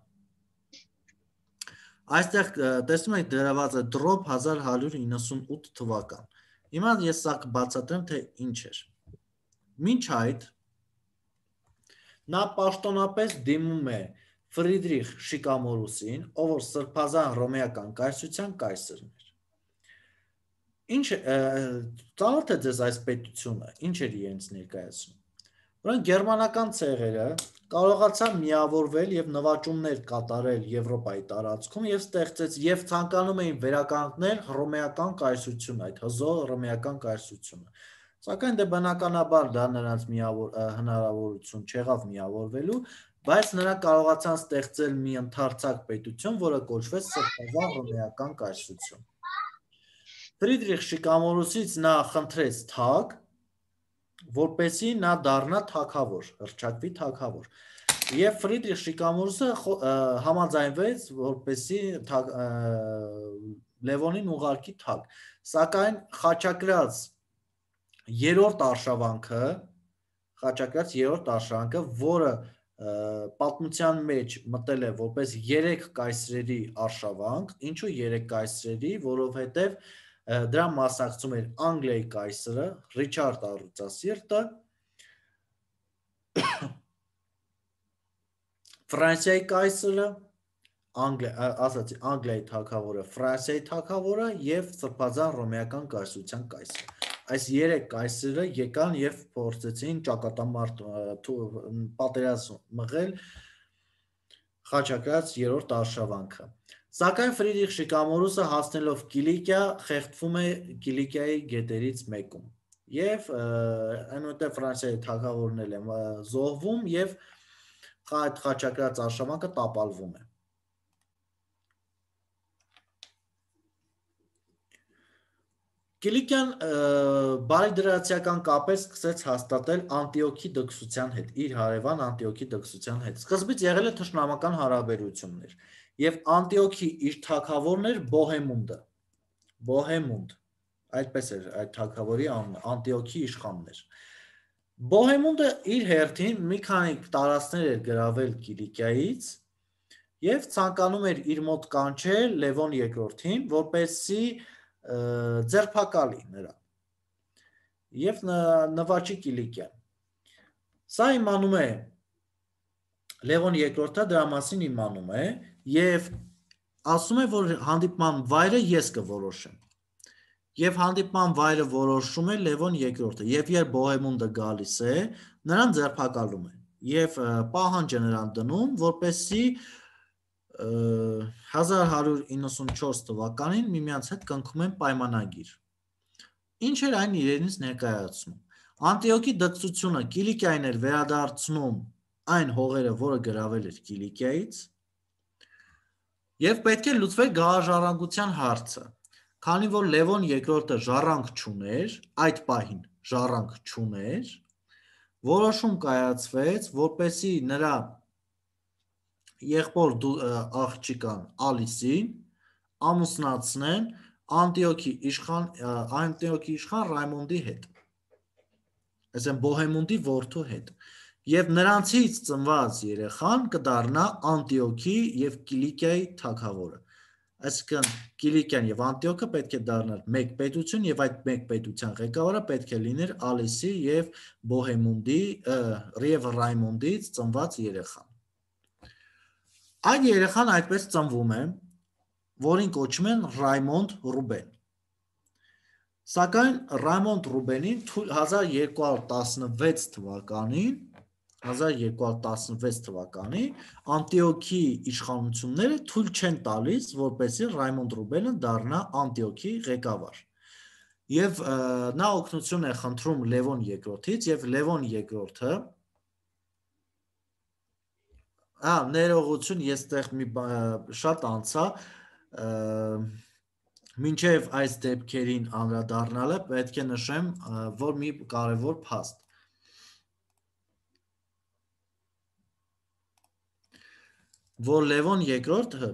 այստեղ տեսնում եք դրված է դրոպ 1198 թվական։ Հիմա ես սա կբացատրեմ, թե ինչ էր։ Մինչ այդ նա պաշտոնապես դիմում է Ֆրիդրիխ Շիկամորուսին, ով որ սրբազան հռոմեական կայսրության կայսրն էր։ Ինչ ծանոթ է ձեզ այս պետությունը, ինչ էր իրենց ներկայացնում։ Որոնք գերմանական ցեղերը կարողացան միավորվել եւ նվաճումներ կատարել Եվրոպայի տարածքում եւ ստեղծեց եւ ցանկանում էին վերականգնել հռոմեական կայսրությունը, այդ հզոր հռոմեական կայսրությունը։ Սակայն դե բնականաբար դա նրանց հնարավորություն չեղավ միավորվելու, բայց նրանք կարողացան ստեղծել մի ընդարձակ պետություն, որը կոչվեց Սրբազան հռոմեական կայսրություն։ Ֆրիդրիխ Շիկամորուսից նա խնդրեց թագ, որպեսզի նա դառնա թագավոր, հռչակվի թագավոր։ Եվ Ֆրիդրիխ Շիկամորուսը համաձայնվեց, որպեսզի Լևոնին ուղարկի թագ։ Սակայն խաչակրած երրորդ արշավանքը, որը պատմության մեջ մտել է որպես 3 կայսրերի արշավանք, ինչու 3 կայսրերի, որովհետև դրա մասնակցում էր Անգլիայի կայսրը, Ռիչարդ Առյուծասիրտը, Ֆրանսիայի կայսրը, Անգլիայի թագավորը, Ֆրանսիայի թագավորը եւ Սրբազան հռոմեական կայսրության կայսրը։ Այս 3 կայսրերը եկան եւ փորձեցին ճակատամարտ պատերազմ մղել խաչակրած երրորդ արշավանքը։ Սակայն Ֆրիդրիխ Շիկամորուսը հասնելով Կիլիկիա խեղդվում է Կիլիկիայի գետերից մեկում եւ այնուհետեւ Ֆրանսիայի թագավորն էլ է զոհվում եւ այդ խաչակրած արշավանքը տապալվում է։ Կիլիկիան բարիդրացիական կապեր սկսեց հաստատել Անտիոքի դքսության հետ, իր հարևան Անտիոքի դքսության հետ։ Սկզբից եղել է թշնամական հարաբերություններ եւ Անտիոքի իր թագավորն էր Բոհեմունդ, այդպես էր այդ թագավորի անունը, Անտիոքի իշխանն էր։ Բոհեմունդը իր հերթին մի քանի տարածքներ էր գրավել Կիլիկիայից եւ ցանկանում էր իր մոտ կանչել Լևոն II-ին, որպեսզի ձերբակալի նրան եւ նվաճի Կիլիկիան։ Սա իմանում է Լևոն II-ը, դրա մասին իմանում է եւ ասում է, որ հանդիպման վայրը ես կորոշեմ։ Եվ հանդիպման վայրը որոշում է Լևոն II-ը, եւ երբ Բոհեմունդը գալիս է, նրան ձերբակալում է եւ պահանջ է նրան դնում, որպեսզի 1194 թվականին միմյանց հետ կնքում են պայմանագիր։ Ինչ էր այն իրենից ներկայացնում։ Անտիոքի դքսությունը Կիլիկիային էր վերադարձնում այն հողերը, որը գրավել էր Կիլիկիայից, եւ պետք է լուծվեր գահաժառանգության հարցը։ Քանի որ Լևոն II-ը ժառանգ չուներ, այդ պահին ժառանգ չուներ, որոշում կայացվեց, որպեսզի նրա եղբոր աղջիկան Ալիսին ամուսնացնեն Անտիոքի իշխան Ռայմոնդի հետ, այսինքն Բոհեմունդի որդու հետ, եւ նրանցից ծնված երեխան կդառնա Անտիոքի եւ Կիլիկիայի թագավորը։ Այսինքն Կիլիկիան եւ Անտիոքը պետք է դառնար մեկ պետություն եւ այդ մեկ պետության ղեկավարը պետք է լիներ Ալիսի եւ Բոհեմունդի եւ Ռայմոնդից ծնված երեխան։ Այդ երեխան այդպես ծնվում է, որին կոչում են Ռայմոնդ Ռուբեն։ Սակայն Ռայմոնդ Ռուբենին 1216 թվականին Անտիոքի իշխանությունները թույլ չեն տալիս, որպեսզի Ռայմոնդ Ռուբենը դառնա Անտիոքի ղեկավար։ Եվ նա օգնություն է խնդրում Լևոն II-ից եւ Լևոն II-ը ներողություն, ես այդտեղ մի շատ անցա, մինչև այս դեպքերին անդրադառնալը պետք է նշեմ, որ մի կարևոր փաստ։ Որ Լևոն II-ը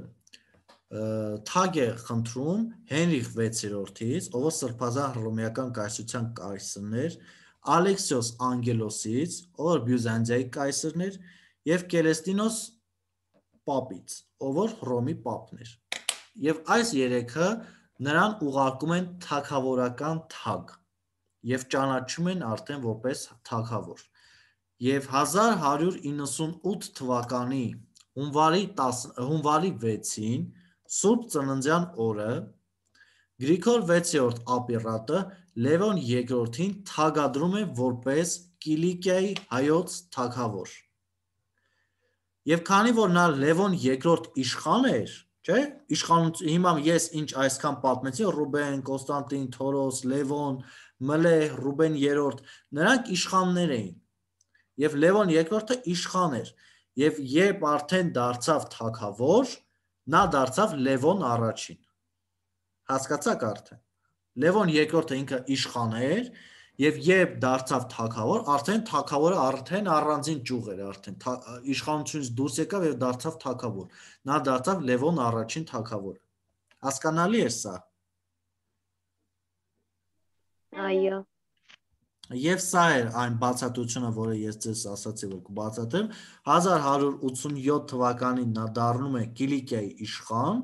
թագ է խնդրում Հենրիխ VI-ից, ով սրբազան հռոմեական կայսրության կայսրն էր, Ալեքսիոս Անգելոսից, ով Բյուզանդիայի կայսրն էր, եւ Կելեստինոս Պապից, ով Հռոմի պապն էր։ Եվ այս երեքը նրան ուղարկում են թագավորական թագ, եւ ճանաչում են արդեն որպես թագավոր։ Եվ 1198 թվականի հունվարի 6-ին Սուրբ Ծննդյան օրը Գրիգոր 6-րդ ապիրատը Լևոն II-ին թագադրում է որպես Կիլիկիայի հայոց թագավոր։ Եվ քանի որ նա Լևոն II իշխան էր, չէ՞, իշխանություն հիմա ես ինչ այսքան պատմեցի, Ռուբեն, Կոստանտին, Թորոս, Լևոն, Մլեհ, Ռուբեն III, նրանք իշխաններ էին։ Եվ Լևոն II-ը իշխան էր, եւ երբ արդեն դարձավ թագավոր, նա դարձավ Լևոն I-ին։ Հասկացաք արդեն։ Լևոն II-ը ինքը իշխան էր, եւ երբ դարձավ թագավոր, արդեն թագավորը արդեն առանձին ճյուղ էր, արդեն իշխանությունից դուրս եկավ եւ դարձավ թագավոր։ Նա դարձավ Լևոն I-ին թագավորը։ Հասկանալի է սա։ Այո։ Եվ սա էր այն բացատրությունը, որը ես ձեզ ասացի, որ կբացատրեմ, 1187 թվականին նա դառնում է Կիլիկիայի իշխան,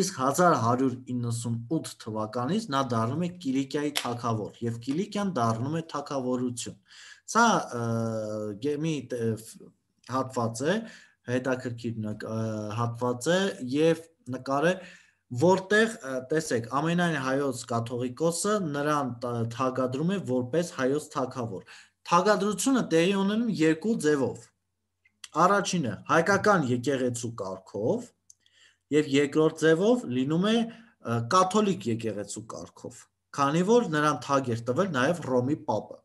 իսկ 1198 թվականից նա դառնում է Կիլիկիայի թագավոր, եւ Կիլիկիան դառնում է թագավորություն։ Սա մի հատված է, հետաքրքիր հատված է եւ նկար է, որտեղ տեսեք ամենայն հայոց կաթողիկոսը նրան թագադրում է որպես հայոց թագավոր։ Թագադրությունը տեղի ունենում երկու ձևով։ Առաջինը հայկական եկեղեցու կարգով եւ երկրորդ ձևով լինում է կաթոլիկ եկեղեցու կարգով, քանի որ նրան թագ էր տվել նաեւ Ռոմի պապը։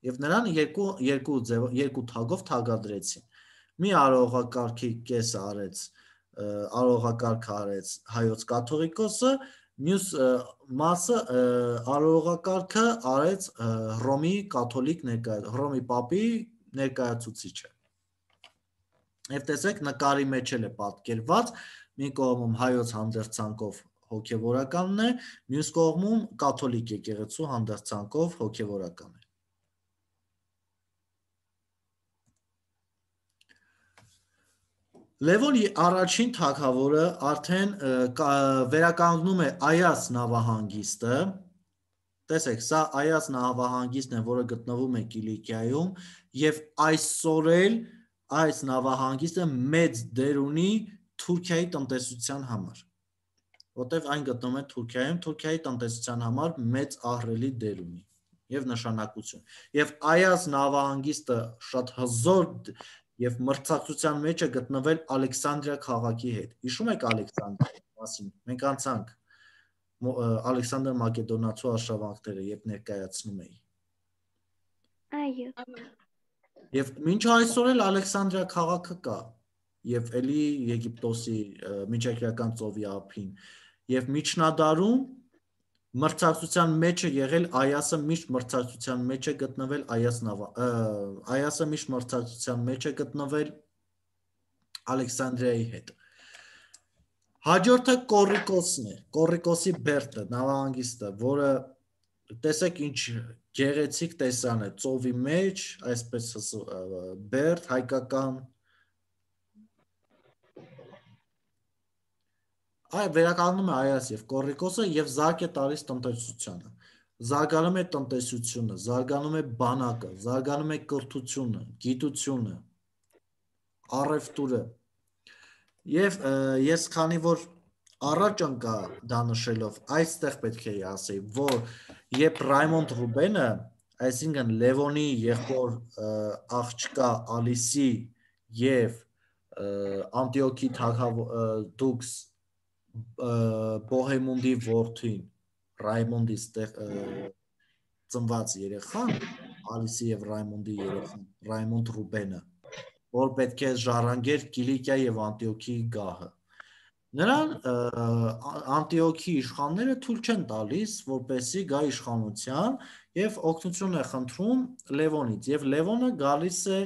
Եվ նրան երկու թագով թագադրեցին։ Մի արարողակարգի կեսը արարողակարգ արեց հայոց կաթողիկոսը, մյուս մասը արարողակարգը արեց Ռոմի կաթոլիկ Ռոմի պապի ներկայացուցիչը։ Եվ տեսեք նկարի մեջ էլ է պատկերված, մի կողմում հայոց հանդերձանքով հոգևորականն է, մյուս կողմում կաթոլիկ եկեղեցու հանդերձանքով հոգևորական է։ Լևոն I թագավորը արդեն վերականգնում է Այաս նավահանգիստը, տեսեք, սա Այաս նավահանգիստն է, որը գտնվում է Կիլիկիայում, եւ այսօր էլ այս նավահանգիստը մեծ դեր ունի Թուրքիայի տնտեսության համար, որտեղ այն գտնվում է Թուրքիայում, Թուրքիայի տնտեսության համար մեծ ահռելի դեր ունի եւ նշանակություն։ Եվ Այաս նավահանգիստը շատ հզոր եւ մրցակցության մեջ է գտնվել Ալեքսանդրիա քաղաքի հետ։ Հիշում եք Ալեքսանդրիայի մասին։ Մենք անցանք Ալեքսանդր Մակեդոնացու արշավանքները, երբ ներկայացնում էի։ Այո։ Եվ մինչ այսօր էլ Ալեքսանդրիա քաղաքը կա, եւ էլի Եգիպտոսի միջերկրական ծովի ափին, եւ միջնադարում մրցակցության մեջ է եղել Այասը, միշտ մրցակցության մեջ է գտնվել Այասը միշտ մրցակցության մեջ է գտնվել Ալեքսանդրիայի հետ։ Հաջորդը Կոռիկոսն է, Կոռիկոսի Բերդը, նավահանգիստը, որը տեսեք ինչ գեղեցիկ տեսան է, ծովի մեջ, այսպես Բերդ, հայկական վերականգնում է Այաս եւ Կոռիկոսը եւ զարգ է տալիս տնտեսությանը, զարգանում է տնտեսությունը, զարգանում է բանակը, զարգանում է կրթությունը, գիտությունը, առևտուրը։ Եվ ես քանի որ առաջ ընկա դա նշելով, այստեղ պետք է ասեի, որ երբ Ռայմոնդ Ռուբենը, այսինքն Լևոնի եղբոր աղջկա Ալիսի եւ Անտիոքի դուքս Բոհեմունդի որդին Ռայմոնդի ծնված երեխան, Ալիսի եւ Ռայմոնդի երեխան, Ռայմոնդ Ռուբենը, որ պետք է ժառանգեր Կիլիկիա եւ Անտիոքի գահը։ Նրան Անտիոքի իշխանները թույլ չեն տալիս, որպեսզի գա իշխանության եւ օգնություն է խնդրում Լևոնից, եւ Լևոնը գալիս է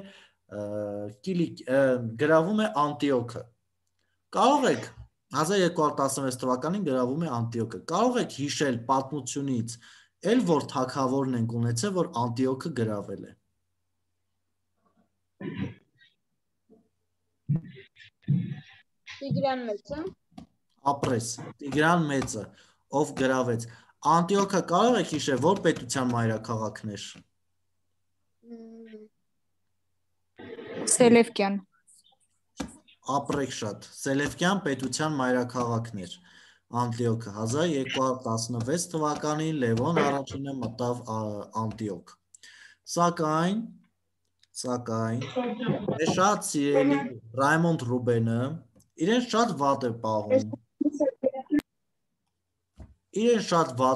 գրավում է Անտիոքը։ Կարող եք 1216 թվականին գրավում է Անտիոքը։ Կարող եք հիշել պատմությունից, էլ որ թագավորն ենք ունեցել, որ Անտիոքը գրավել է։ Տիգրան Մեծը։ Ապրես, Տիգրան Մեծը, ով գրավեց։ Անտիոքը կարող եք հիշել, որ պետության մայրաքաղաքն էր։ Սելևկյան։ Ապրեք շատ։ Սելևկյան պետության մայրաքաղաքն էր Անտիոքը։ 1216 թվականին Լևոն առաջինը մտավ Անտիոք։ Սակայն մեր շատ սիրելի Ռայմոնդ Ռուբենը իրեն շատ վատ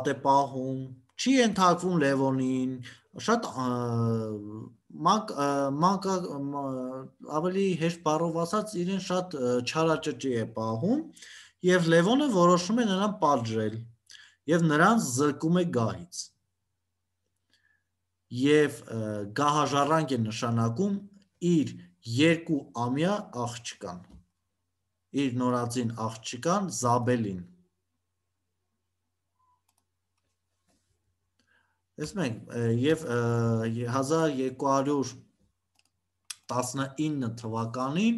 է պահում, չի ենթարկվում Լևոնին, շատ ավելի հեշտ բառով ասած իրեն շատ չարաճճի է պահում եւ Լևոնը որոշում է նրան պատժել եւ նրան զրկում է գահից եւ գահաժառանգ է նշանակում իր 2-ամյա աղջկան, իր նորածին աղջկան Զաբելին։ Եվ 1219 թվականին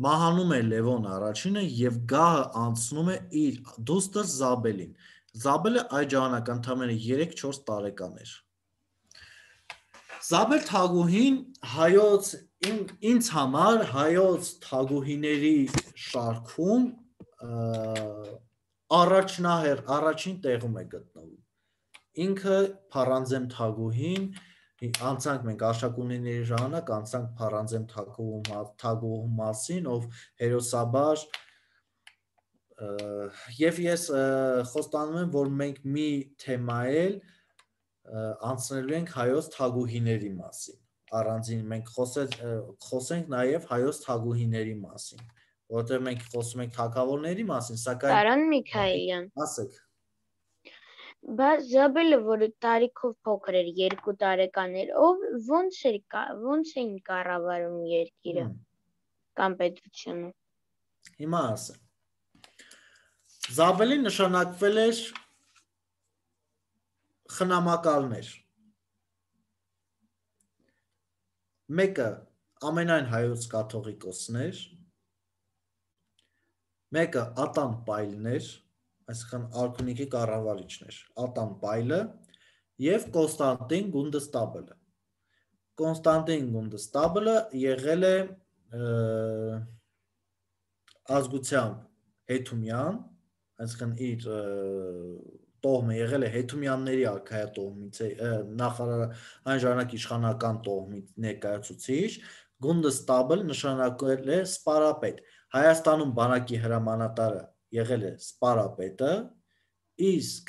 մահանում է Լևոն առաջինը եւ գահը անցնում է իր դուստր Զաբելին։ Զաբելը այդ ժամանակ ընդամենը 3-4 տարեկան էր։ Զաբել Թագուհին ինձ համար հայոց թագուհիների շարքում առաջին տեղում է գտնվում։ Ինքը Փարանձեմ Թագուհին, անցանք մենք Արշակունիների ժամանակ, անցանք Փարանձեմ Թագուհու մասին, ով հերոսաբար, եւ ես խոստանում եմ, որ մենք մի թեմա էլ անցնելու ենք հայոց թագուհիների մասին, առանձին մենք խոսենք նաև հայոց թագուհիների մասին, որովհետև մենք խոսում ենք թագավորների մասին, սակայն Տարան Միքայելյան, ասեք, բայց Զաբելը, որը տարիքով փոքր էր, 2 տարեկան էր, ոնց էին կառավարում երկիրը կամ պետությունը։ Հիմա ասեմ, Զաբելին նշանակվել էր խնամակալներ, մեկը ամենայն հայոց կաթողիկոսն էր, մեկը Ատան Պայլն էր, այսինքն արքունիքի կառավարիչն էր, Ատան Պայլը եւ Կոնստանտին Գունդստաբլը։ Կոնստանտին Գունդստաբլը եղել է ազգությամբ հետումյան, այսինքն իր տոհմը եղել է հետումյանների արքայատոհմից, այն ժամանակ իշխանական տոհմի ներկայացուցիչ, Գունդստաբլ նշանակել է սպարապետ։ Հայաստանում բանակի հրամանատարը եղել է սպարապետը, իսկ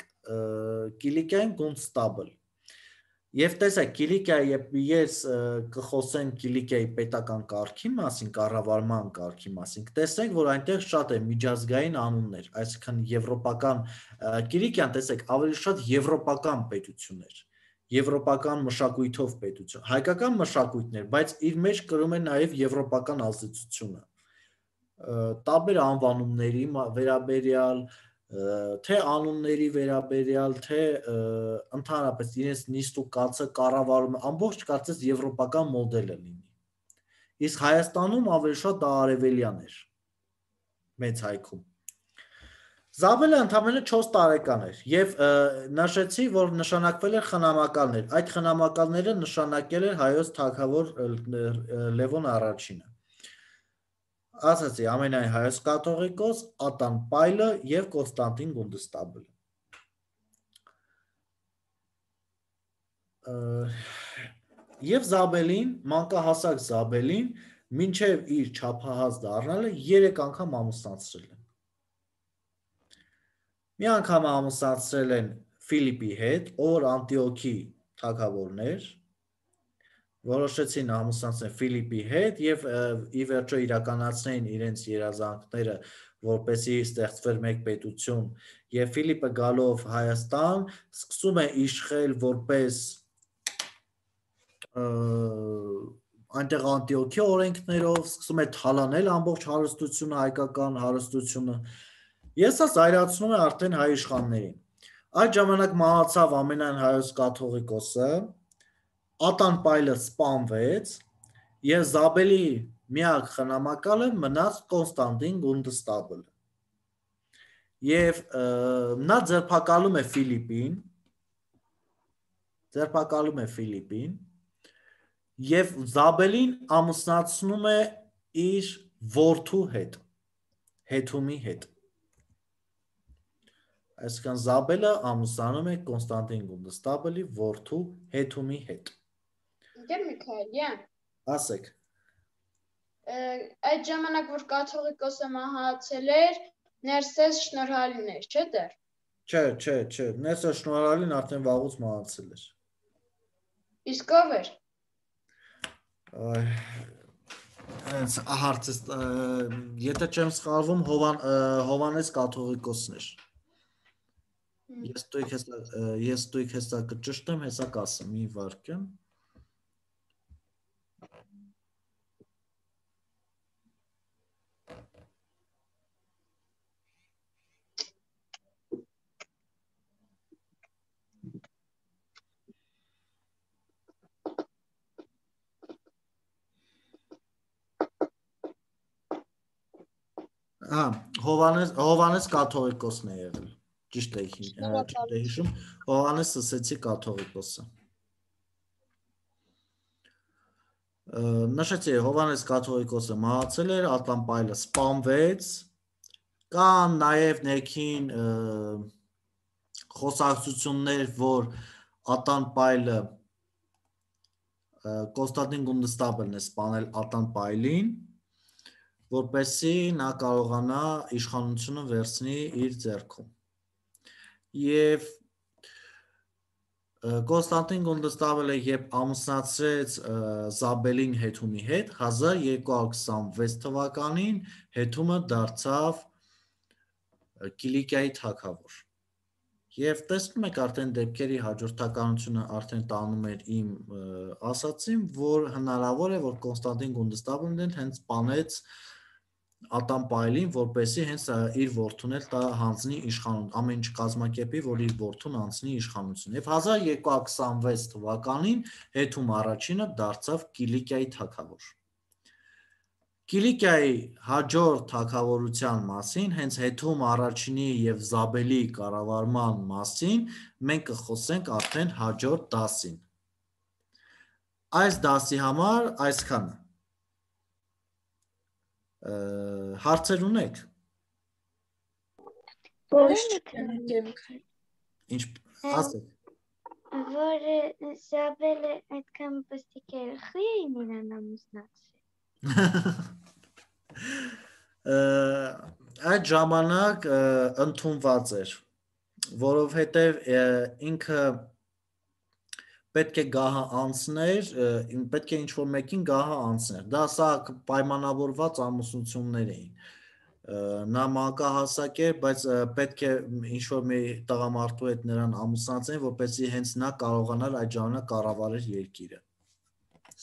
Կիլիկիայում Գունդստաբլ։ Եվ տեսեք, Կիլիկիայի, ես կխոսեմ Կիլիկիայի պետական կարգի մասին, կառավարման կարգի մասին, տեսեք, որ այնտեղ շատ է միջազգային անուններ, այսինքն եվրոպական, Կիլիկիան, տեսեք, ավելի շատ եվրոպական պետություն էր, եվրոպական մշակույթով պետություն, հայկական մշակույթներ, բայց իր մեջ կրում է նաև եվրոպական ազդեցությունը, տարբեր անվանումների վերաբերյալ, թե անունների վերաբերյալ, թե ընդհանրապես իրենց նիստ ու կացը կառավարում, ամբողջ կարծես եվրոպական մոդելը լինի։ Իսկ Հայաստանում ավելի շատ դա արևելյան էր, մեծ հայքում։ Զաբելը ընդամենը 4 տարեկան էր եւ նշեցի, որ նշանակվել էր խնամակալներ։ Այդ խնամակալները նշանակել էր հայոց թագավոր Լևոն առաջինը։ Ասացի, ամենայն հայոց կաթողիկոս, Ատան Պայլը եւ Կոնստանտին Գունդստաբլը։ Եվ Զաբելին, մանկահասակ Զաբելին, մինչև իր չափահաս դառնալը 3 անգամ ամուսնացրել են։ Մի անգամ ամուսնացրել են Ֆիլիպի հետ, ով Անտիոքի թագավորն էր, որոշեցին ամուսնացնել Ֆիլիպի հետ եւ ի վերջո իրականացնեին իրենց երազանքները, որպեսզի ստեղծվեր մեկ պետություն, եւ Ֆիլիպը գալով Հայաստան սկսում է իշխել որպես այնտեղ Անտիոքի օրենքներով, սկսում է թալանել ամբողջ հարստությունը, հայկական հարստությունը, եւ սա զայրացնում է արդեն հայ իշխաններին։ Այդ ժամանակ մահացավ ամենայն հայոց կաթողիկոսը, Ատան Պայլը սպանվեց եւ Զաբելի միակ խնամակալը մնաց Կոնստանտին Գունդստաբլը։ Եվ նա ձերբակալում է Ֆիլիպին, եւ Զաբելին ամուսնացնում է իր որդու հետ, Հեթումի հետ։ Այսինքն Զաբելը ամուսնանում է Կոնստանտին Գունդստաբելի որդու Հեթումի հետ։ Ընկեր Միքայելյան, Ասեք։ այդ ժամանակ որ կաթողիկոսը մահացել էր, Ներսես Շնորհալին էր, չէ՞ դեռ։ Չէ, Ներսես Շնորհալին արդեն վաղուց մահացել էր։ Իսկ ով էր։ Այս հարցը, եթե չեմ սխալվում, Հովանես կաթողիկոսն էր։ Ես դույք հեսա կճշտեմ, հեսա կասեմ, մի վարքյան։ Հովանես կաթողիկոսն է եղել, ճիշտ է հիշում, Հովանես Սսեցի կաթողիկոսը։ Նշեցի, Հովանես կաթողիկոսը մահացել էր, Ատան Պայլը սպանվեց, կան նաև ներքին խոսակցություններ, որ Ատան Պայլը Կոնստանտին Գունդստաբելն է սպանել Ատան Պայլին, որպեսզի նա կարողանա իշխանությունը վերցնի իր ձեռքում։ Եվ Կոնստանտին Գունդստաբելը երբ ամուսնացրեց Զաբելին Հեթումի հետ, 1226 թվականին Հեթումը դարձավ Կիլիկիայի թագավոր։ Եվ տեսնում եք արդեն դեպքերի հաջորդականությունը արդեն տանում էր իմ ասացին, որ հնարավոր է, որ Կոնստանտին Գունդստաբելն հենց սպանեց Ատան Պայլին, որպեսզի հենց իր որդուն էլ հանձնի իշխանություն, ամեն ինչ կազմակերպի, որ իր որդուն անցնի իշխանություն։ Եվ 1226 թվականին Հեթում առաջինը դարձավ Կիլիկիայի թագավոր։ Կիլիկիայի հաջորդ թագավորության մասին, հենց Հեթում առաջինի եւ Զաբելի կառավարման մասին մենք կխոսենք արդեն հաջորդ դասին։ Այս դասի համար այսքանը։ Հարցեր ունեք։ Ինչ ասեք։ Որ Զաբելը այդքան պստիկ էր, խի էին իրան ամուսնացրել։ Այդ ժամանակ ընդունված էր, որովհետև ինքը պետք է գահը անցներ, պետք է ինչ-որ մեկին գահը անցներ, դա սա պայմանավորված ամուսնություններ էին, նա մանկահասակ էր, բայց պետք է ինչ-որ մի տղամարդու հետ նրան ամուսնացնեն, որպեսզի հենց նա կարողանար այդ ժամանակ կառավարել երկիրը։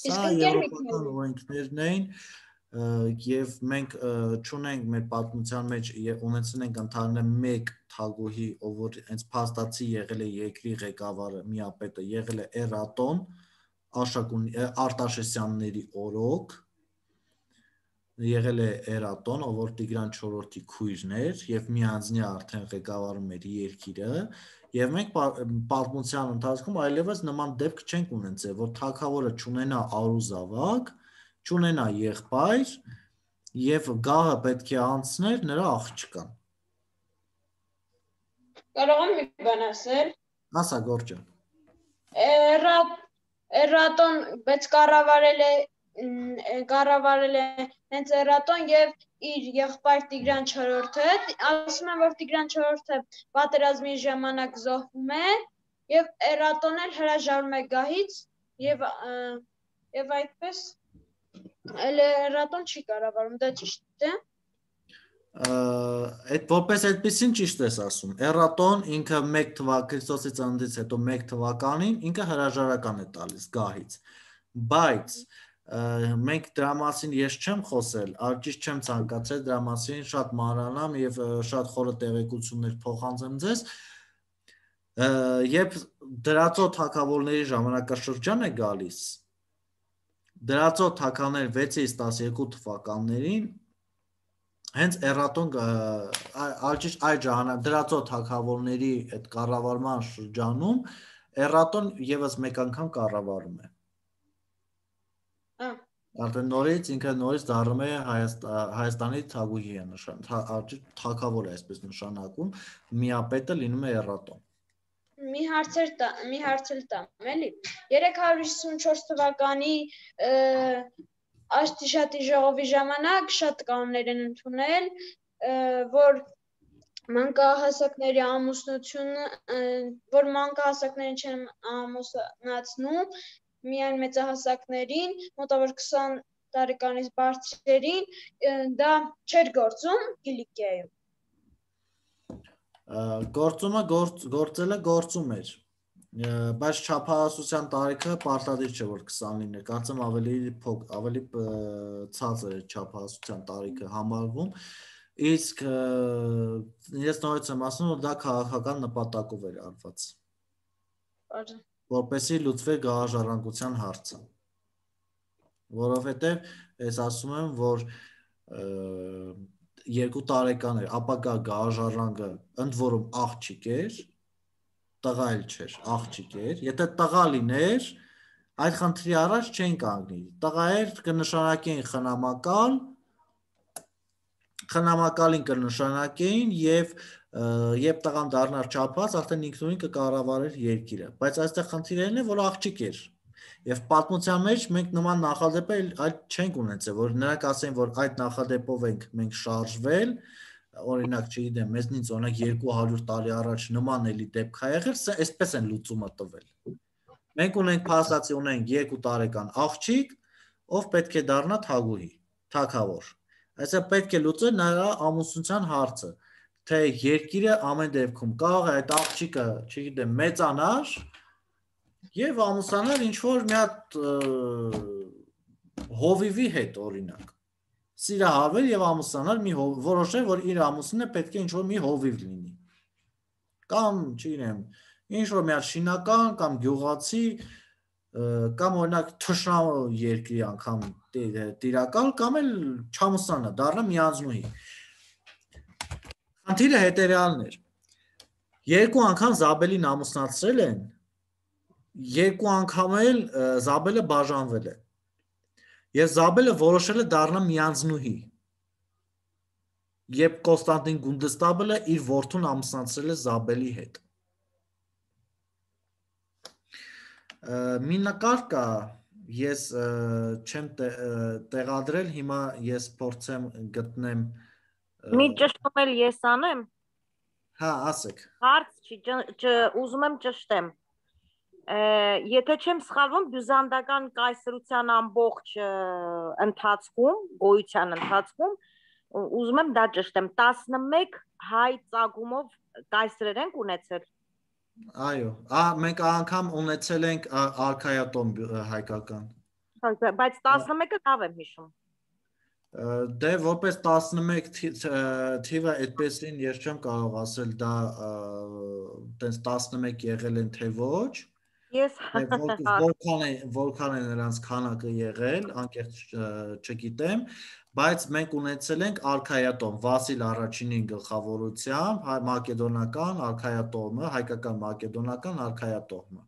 Սա եվրոպական օրենքներն էին, եւ մենք չունենք մեր պատմության մեջ ունեցել ենք ընդհանրապես մեկ թագուհի, ով որ հենց փաստացի եղել է երկրի ղեկավարը, միապետը եղել է Էրատոն, Արտաշեսյանների օրոք, եղել է Էրատոն, ով որ Տիգրան IV-ի քույրն էր եւ միանձնյա արդեն ղեկավարում էր երկիրը, եւ մենք պատմության ընթացքում այլևս նման դեպք չենք ունեցել, որ թագավորը չունենա արուզավակ, չունենա եղբայր եւ գահը պետք է անցներ նրա աղջկան։ Կարող եմ մի բան ասել։ Ասա Գորջը։ Էրատոն բայց կառավարել է հենց Էրատոն եւ իր եղբայր Տիգրան IV-ը, ասում են որ Տիգրան IV-ը պատերազմի ժամանակ զոհվում է եւ Էրատոն էլ հրաժարվում է գահից եւ այդպես Էրատոն չի կառավարում, դա ճիշտ է։ Այդ որպես այդպեսին ճիշտ ես ասում։ Էրատոն ինքը 1 թվականի Քրիստոսի ծննդից հետո 1 թվականին ինքը հրաժարական է տալիս գահից։ Բայց մենք դրա մասին ես չեմ խոսել, ճիշտ չեմ ցանկացել դրա մասին շատ մանրանամ եւ շատ խորը տեղեկություններ փոխանցեմ ձեզ։ Երբ դրածո թագավորների ժամանակաշրջան է գալիս, դրածո թագավորներ 6-ից 12 թվականներին Հենց էրատոն այդ ժամանակ դրածո թագավորների այդ կառավարման շրջանում էրատոն եւս մեկ անգամ կառավարում է։ Արդեն նորից ինքը նորից դառնում է Հայաստանի թագուհի է թագավոր է այսպես նշանակում, միապետը լինում է էրատոն։ Մի հարց էլ տամ, էլի։ 354 թվականի Աշտիշատի ժողովի ժամանակ շատ կանոններ են ընդունել, որ մանկահասակների ամուսնությունը, որ մանկահասակներին չեն ամուսնացնում, միայն մեծահասակներին, մոտավոր 20 տարեկանից բարձրերին, դա չէր գործում Կիլիկիայում։ Գործում էր, բայց չափահասության տարիքը պարտադիր չէ, որ 20 լիներ, կարծեմ ավելի ցածր է չափահասության տարիքը համարվում, իսկ ես նորից եմ ասում, որ դա քաղաքական նպատակով էր արված, որպեսզի լուծվեր գաղաժառանգության հարցը, որովհետև ես ասում եմ, որ 2 տարեկան էր, ապագա գաղաժառանգը ընդ որում աղջիկ էր, տղա էլ չէր, աղջիկ էր, եթե տղա լիներ, այդ խնդրի առաջ չեն կանգնի, տղա էր կնշանակեին խնամակալին կնշանակեին եւ տղան դառնար չափած, արդեն ինքնուրույն կկառավարեր երկիրը, բայց այստեղ խնդիրն է, որ աղջիկ էր, եւ պատմության մեջ մենք նման նախադեպեր այլ չենք ունեցել, որ նրանք ասեն, որ այդ նախադեպով ենք մենք շարժվել, օրինակ, չգիտեմ, մեզնից օրինակ 200 տարի առաջ նման էլի դեպք ա եղել, այսպես են լուծումը տվել։ Մենք ունենք փաստացի ունենք 2 տարեկան աղջիկ, ով պետք է դառնա թագուհի, թագավոր։ Այսինքն պետք է լուծել նրա ամուսնության հարցը, թե երկիրը ամեն դեպքում կարող է այդ աղջիկը, չգիտեմ, մեծանար եւ ամուսնանալ ինչ որ մի հատ հովիվի հետ օրինակ։ Սիրահարվել եւ ամուսնանալ մի որոշել, որ իր ամուսինը պետք է ինչ որ մի հովիվ լինի։ Կամ, չգիտեմ, ինչ որ մի հատ շինական կամ գյուղացի կամ օրինակ թշնամու երկրի անգամ տիրակալ կամ էլ չամուսնանա, դառնա միանձնուհի։ Խնդիրը հետեւյալն էր։ 2 անգամ Զաբելին ամուսնացրել են, 2 անգամ էլ Զաբելը բաժանվել է։ Եվ Զաբելը որոշել է դառնա միանձնուհի։ Երբ Կոնստանտին Գունդստաբլը իր որդուն ամուսնացրել է Զաբելի հետ։ Մի նկար կա, ես չեմ տեղադրել, հիմա ես փորձեմ գտնեմ։ Մի ճշտում էլ ես անեմ։ Հա, ասեք։ Հարց չի, ուզում եմ ճշտեմ։ Եթե չեմ սխալվում, բյուզանդական կայսրության ամբողջ ընթացքում, գոյության ընթացքում, ուզում եմ դա ճշտեմ, 11 հայ ծագումով կայսրեր ենք ունեցել։ Այո, մենք անգամ ունեցել ենք արքայատոմ հայկական։ Բայց 11-ը լավ եմ հիշում։ Դե որպես 11 թիվը այդպեսին ես չեմ կարող ասել դա տենց 11 եղել են թե ոչ։ Ես որքան է նրանց քանակը եղել, անկեղծ չգիտեմ, բայց մենք ունեցել ենք արքայատոմ Վասիլ առաջինին գլխավորությամբ, մակեդոնական արքայատոմը, հայկական մակեդոնական արքայատոմը։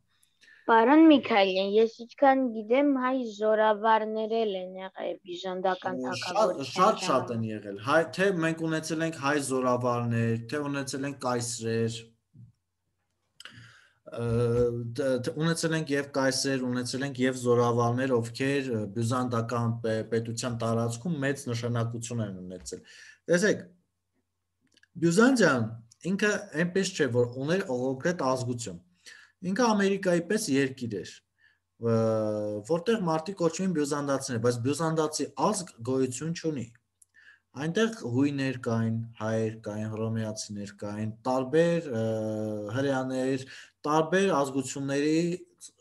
Պարոն Միքայելյան, ես ինչքան գիտեմ, հայ զորավարներ են եղել բյուզանդական թագավորության։ Շատ են եղել։ Թե մենք ունեցել ենք հայ զորավարներ, թե ունեցել ենք կայսրեր, ունեցել ենք եւ կայսեր, ունեցել ենք եւ զորավարներ, ովքեր բյուզանդական պետության տարածքում մեծ նշանակություն են ունեցել։ Տեսեք, Բյուզանդիան ինքը այնպես չէ, որ ուներ կոնկրետ ազգություն։ Ինքը Ամերիկայի պես երկիր էր, որտեղ մարդիկ կոչվում են բյուզանդացիներ, բայց բյուզանդացի ազգ գոյություն չունի։ Այնտեղ հույներ կային, հայեր կային, հռոմեացիներ կային, տարբեր հրեաներ, տարբեր ազգությունների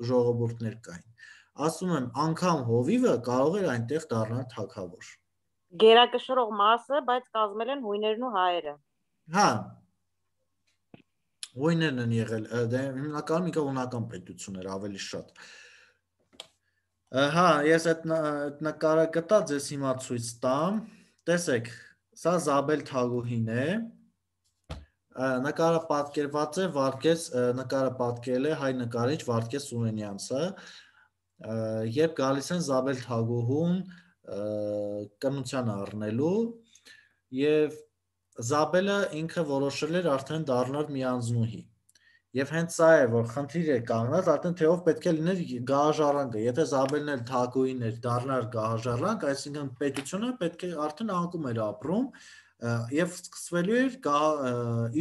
ժողովուրդներ կային։ Ասում եմ, անգամ հովիվը կարող էր այնտեղ դառնալ թագավոր։ Գերակշռող մասը, բայց կազմել են հույներն ու հայերը։ Հա։ Հույներն են եղել, դե հիմնականում ինքը հունական պետություն էր ավելի շատ։ Հա, ես այդ նկարը գտա, ձեզ հիմա ցույց տամ։ Տեսեք, Սա Զաբել Թագուհին է, նկարը պատկերված է նկարը պատկերել է հայ նկարիչ Վարդգես Սուրենյանցը, երբ գալիս են Զաբել Թագուհուն կնության առնելու եւ Զաբելը ինքը որոշել էր արդեն դառնալ մի անձնուհի։ Եվ հենց սա է, որ խնդիր է կանգնած, արդեն թե ով պետք է լիներ գահաժառանգը։ Եթե Զաբելն էլ Թագուհին էր դառնար գահաժառանգ, այսինքն պետությունը պետք է արդեն անկում էր ապրում եւ սկսվելու էր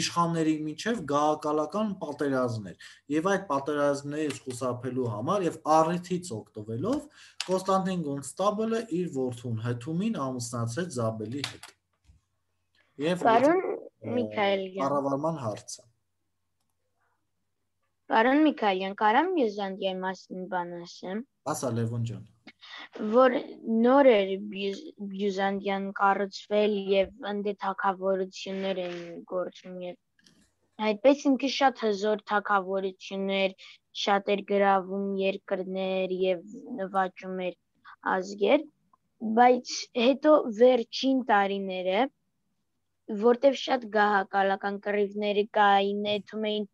իշխանների միջև գահակալական պատերազմներ։ Եվ այդ պատերազմներից խուսափելու համար եւ առիթից օգտվելով Կոնստանտին Կոնստաբլը իր որդուն Հթումին ամուսնացրեց Զաբելի հետ։ Եվ Պարոն Միքայելյան, կառավարման հարցը։ Պարոն Միքայելյան, կարամ Բյուզանդիայի մասին բան ասեմ։ Ասա Լևոն ջան։ Որ նոր էր Բյուզանդիան կառուցվել եւ ընդ թագավորություններ են գործում եւ այդպես ինքը շատ հզոր թագավորություններ, շատ էր գրավում երկրներ եւ նվաճում էր ազգեր, բայց հետո վերջին տարիները որտեվ շատ գահակալական կռիվներ կային, էթում էին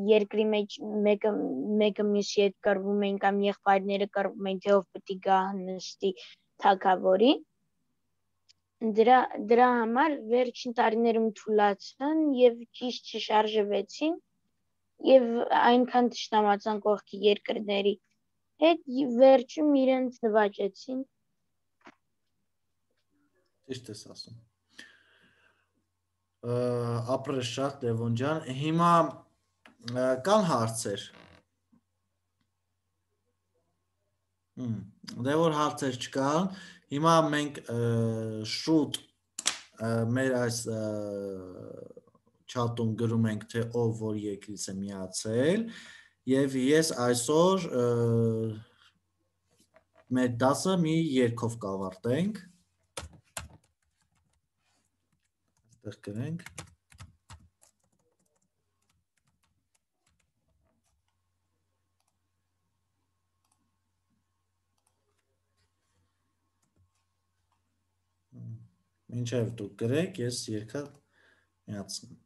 երկրի մեջ մեկը մյուսի հետ կռվում էին կամ եղբայրները կռվում էին, թե ով պետք է գա նստի թագավորի։ Դրա համար վերջին տարիներում թուլացան եւ ճիշտ չշարժվեցին եւ այնքան ճշտամացան կողքի երկրների հետ վերջում իրենց նվաճեցին։ Ճիշտ ես ասում։ Ապրես շատ Լևոն ջան, հիմա կան հարցեր։ Դե որ հարցեր չկան, հիմա մենք շուտ մեր այս չաթում գրում ենք, թե ով որ երկրից է միացել, եւ ես այսօր մեր դասը մի երգով կավարտենք։ Այստեղ գրենք։ Մինչև դուք գրեք, ես երգը միացնեմ։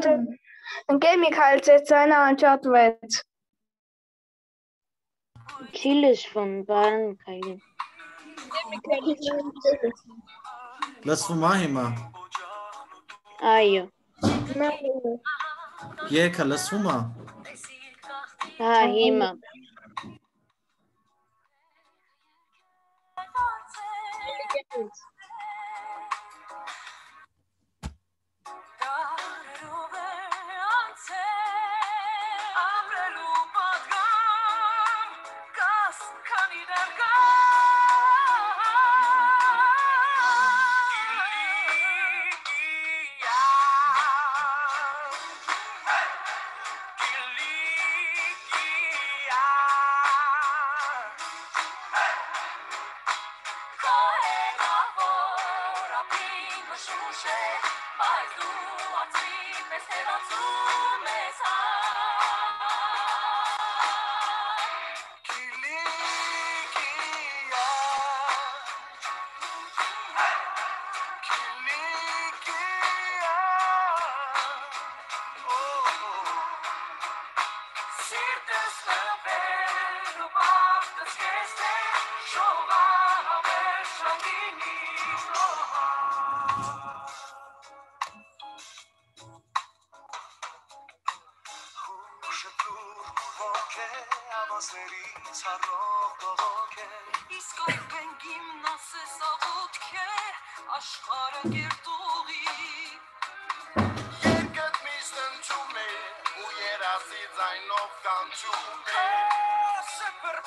Ընկեր Միքայել, ձեր ձայնը անջատվեց։ Չի լսվում, պարոն Միքայելյան։ Լսվում է հիմա։ Այո։ Երգը լսվում է։ Հա, հիմա։ Super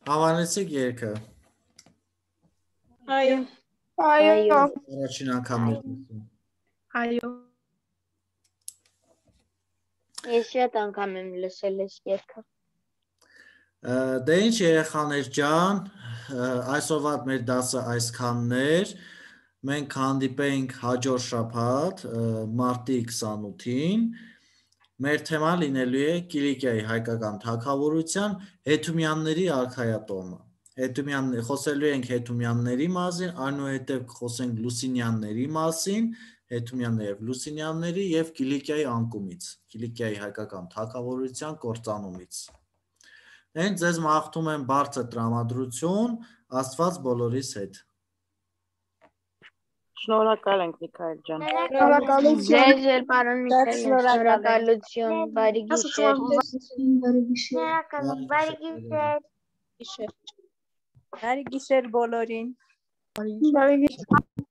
Հավանեցիք երգը։ Այո։ Այո։ Առաջին անգամ եք լսում։ Այո։ Ես շատ անգամ եմ լսել այս երգը։ Դե ինչ երեխաներ ջան, այսօրվա մեր դասը այսքանն էր։ Մենք հանդիպենք հաջորդ շաբաթ մարտի 28-ին։ Մեր թեման լինելու է Կիլիկիայի հայկական թագավորության Հետումյանների արքայատոմը։ Խոսելու ենք Հետումյանների մասին, այնուհետև խոսենք Լուսինյանների մասին, Հետումյանների և Լուսինյանների և Կիլիկիայի անկումից, Կիլիկիայի հայկական թագավորության կործանումից։ Ձեզ մաղթում եմ բարձր տրամադրություն, Աստված բոլորիս հետ։ Շնորհակալ ենք Միքայել ջան։ Շնորհակալություն։ Ձեզ էլ պարոն Միքայել, շնորհակալություն, բարի գիշեր։ Բարի գիշեր։ Բարի գիշեր բոլորին։ Բարի գիշեր։